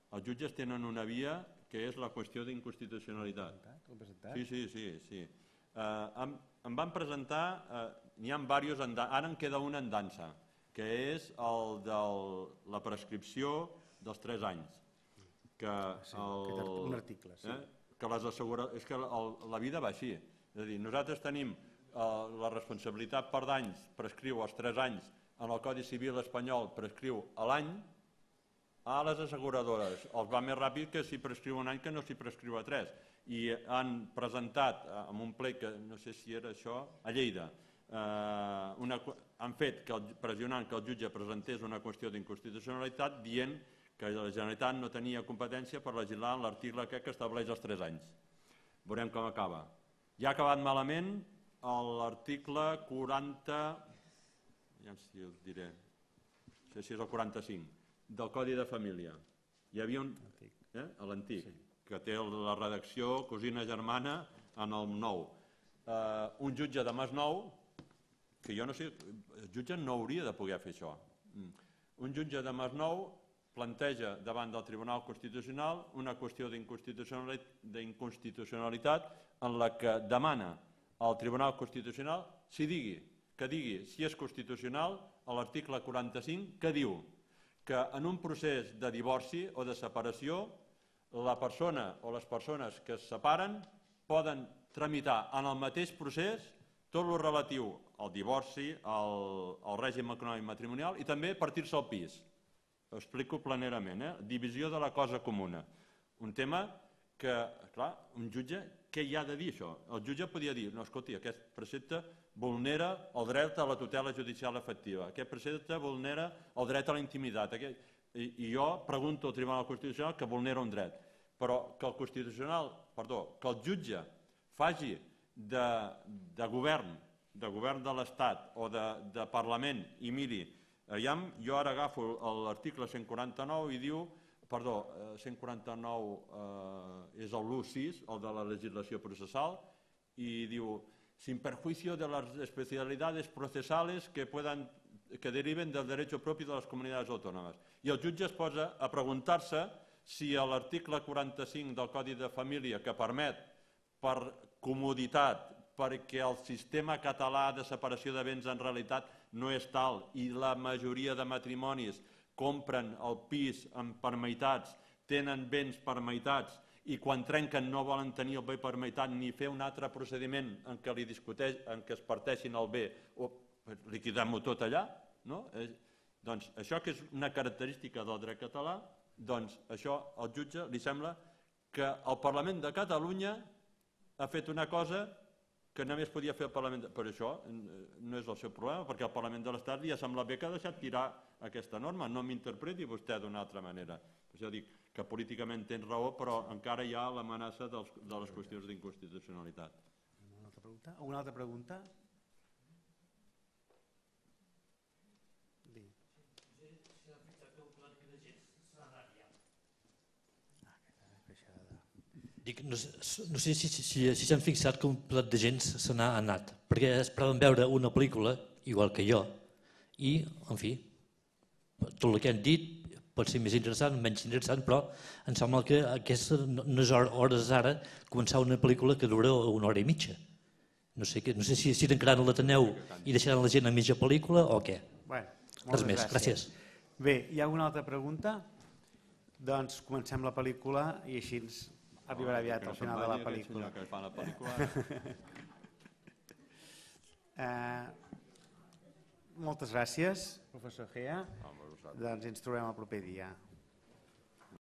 Els jutges tenen una via que és la qüestió d'inconstitucionalitat. Sí. Em van presentar, n'hi ha diversos, ara en queda un en dansa, que és el de la prescripció dels 3 anys. Un article, sí. És que la vida va així. És a dir, nosaltres tenim la responsabilitat per danys, prescriu els 3 anys, en el Codi Civil espanyol prescriu a l'any, a les asseguradores els va més ràpid que si prescriu un any que no s'hi prescriu a 3. I han presentat en un ple, que no sé si era això, a Lleida, han fet pressionant que el jutge presentés una qüestió d'inconstitucionalitat dient que la Generalitat no tenia competència per legislar en l'article que estableix els 3 anys. Veurem com acaba. Ja ha acabat malament l'article 40, ja si us diré, no sé si és el 45, del Codi de Família. Hi havia un... l'antic, que té la redacció cosina germana en el nou. Un jutge de Masnou, que jo no sé, el jutge no hauria de poder fer això. Un jutge de Masnou planteja davant del Tribunal Constitucional una qüestió d'inconstitucionalitat en la que demana al Tribunal Constitucional que digui si és constitucional a l'article 45, que diu que en un procés de divorci o de separació la persona o les persones que es separen poden tramitar en el mateix procés tot el relatiu al divorci, al règim econòmic matrimonial i també partir-se el pis. Ho explico planerament, divisió de la cosa comuna. Un tema que, clar, un jutge, què hi ha de dir això? El jutge podia dir, no, escolti, aquest precepte vulnera el dret a la tutela judicial efectiva, aquest precepte vulnera el dret a la intimitat, i jo pregunto al Tribunal Constitucional que vulnera un dret, però que el jutge faci de govern de l'Estat o de Parlament i miri, jo ara agafo l'article 149 i diu, 149 és l'1.6, el de la legislació processal, i diu, sin perjuicio de las especialidades procesales que deriven del derecho propio de las comunidades autónomas. I el jutge es posa a preguntar-se si l'article 45 del Codi de Família, que permet per comoditat, perquè el sistema català de separació de béns en realitat no és tal i la majoria de matrimonis compren el pis per meitats, tenen béns per meitats i quan trenquen no volen tenir el bé per meitat ni fer un altre procediment en què es parteixin el bé o liquidem-ho tot allà, doncs això que és una característica del dret català, doncs això al jutge li sembla que el Parlament de Catalunya ha fet una cosa que només podia fer el Parlament, però això no és el seu problema, perquè el Parlament de l'Estat li ha semblat bé que ha deixat tirar aquesta norma, no m'interpreti vostè d'una altra manera. Per això dic que políticament tens raó, però encara hi ha l'amenaça de les qüestions d'inconstitucionalitat. Una altra pregunta? No sé si s'han fixat que un plat de gent se n'ha anat, perquè esperaven veure una pel·lícula, igual que jo, i, en fi, tot el que han dit pot ser més interessant, menys interessant, però em sembla que no és hores ara començar una pel·lícula que dura 1 hora i mitja. No sé si tancaran l'Ateneu i deixaran la gent a mitja pel·lícula o què. Res més, gràcies. Bé, hi ha alguna altra pregunta? Doncs comencem la pel·lícula i així arribarà aviat al final de la pel·lícula. Moltes gràcies, professor Gea. Doncs ens trobem el proper dia.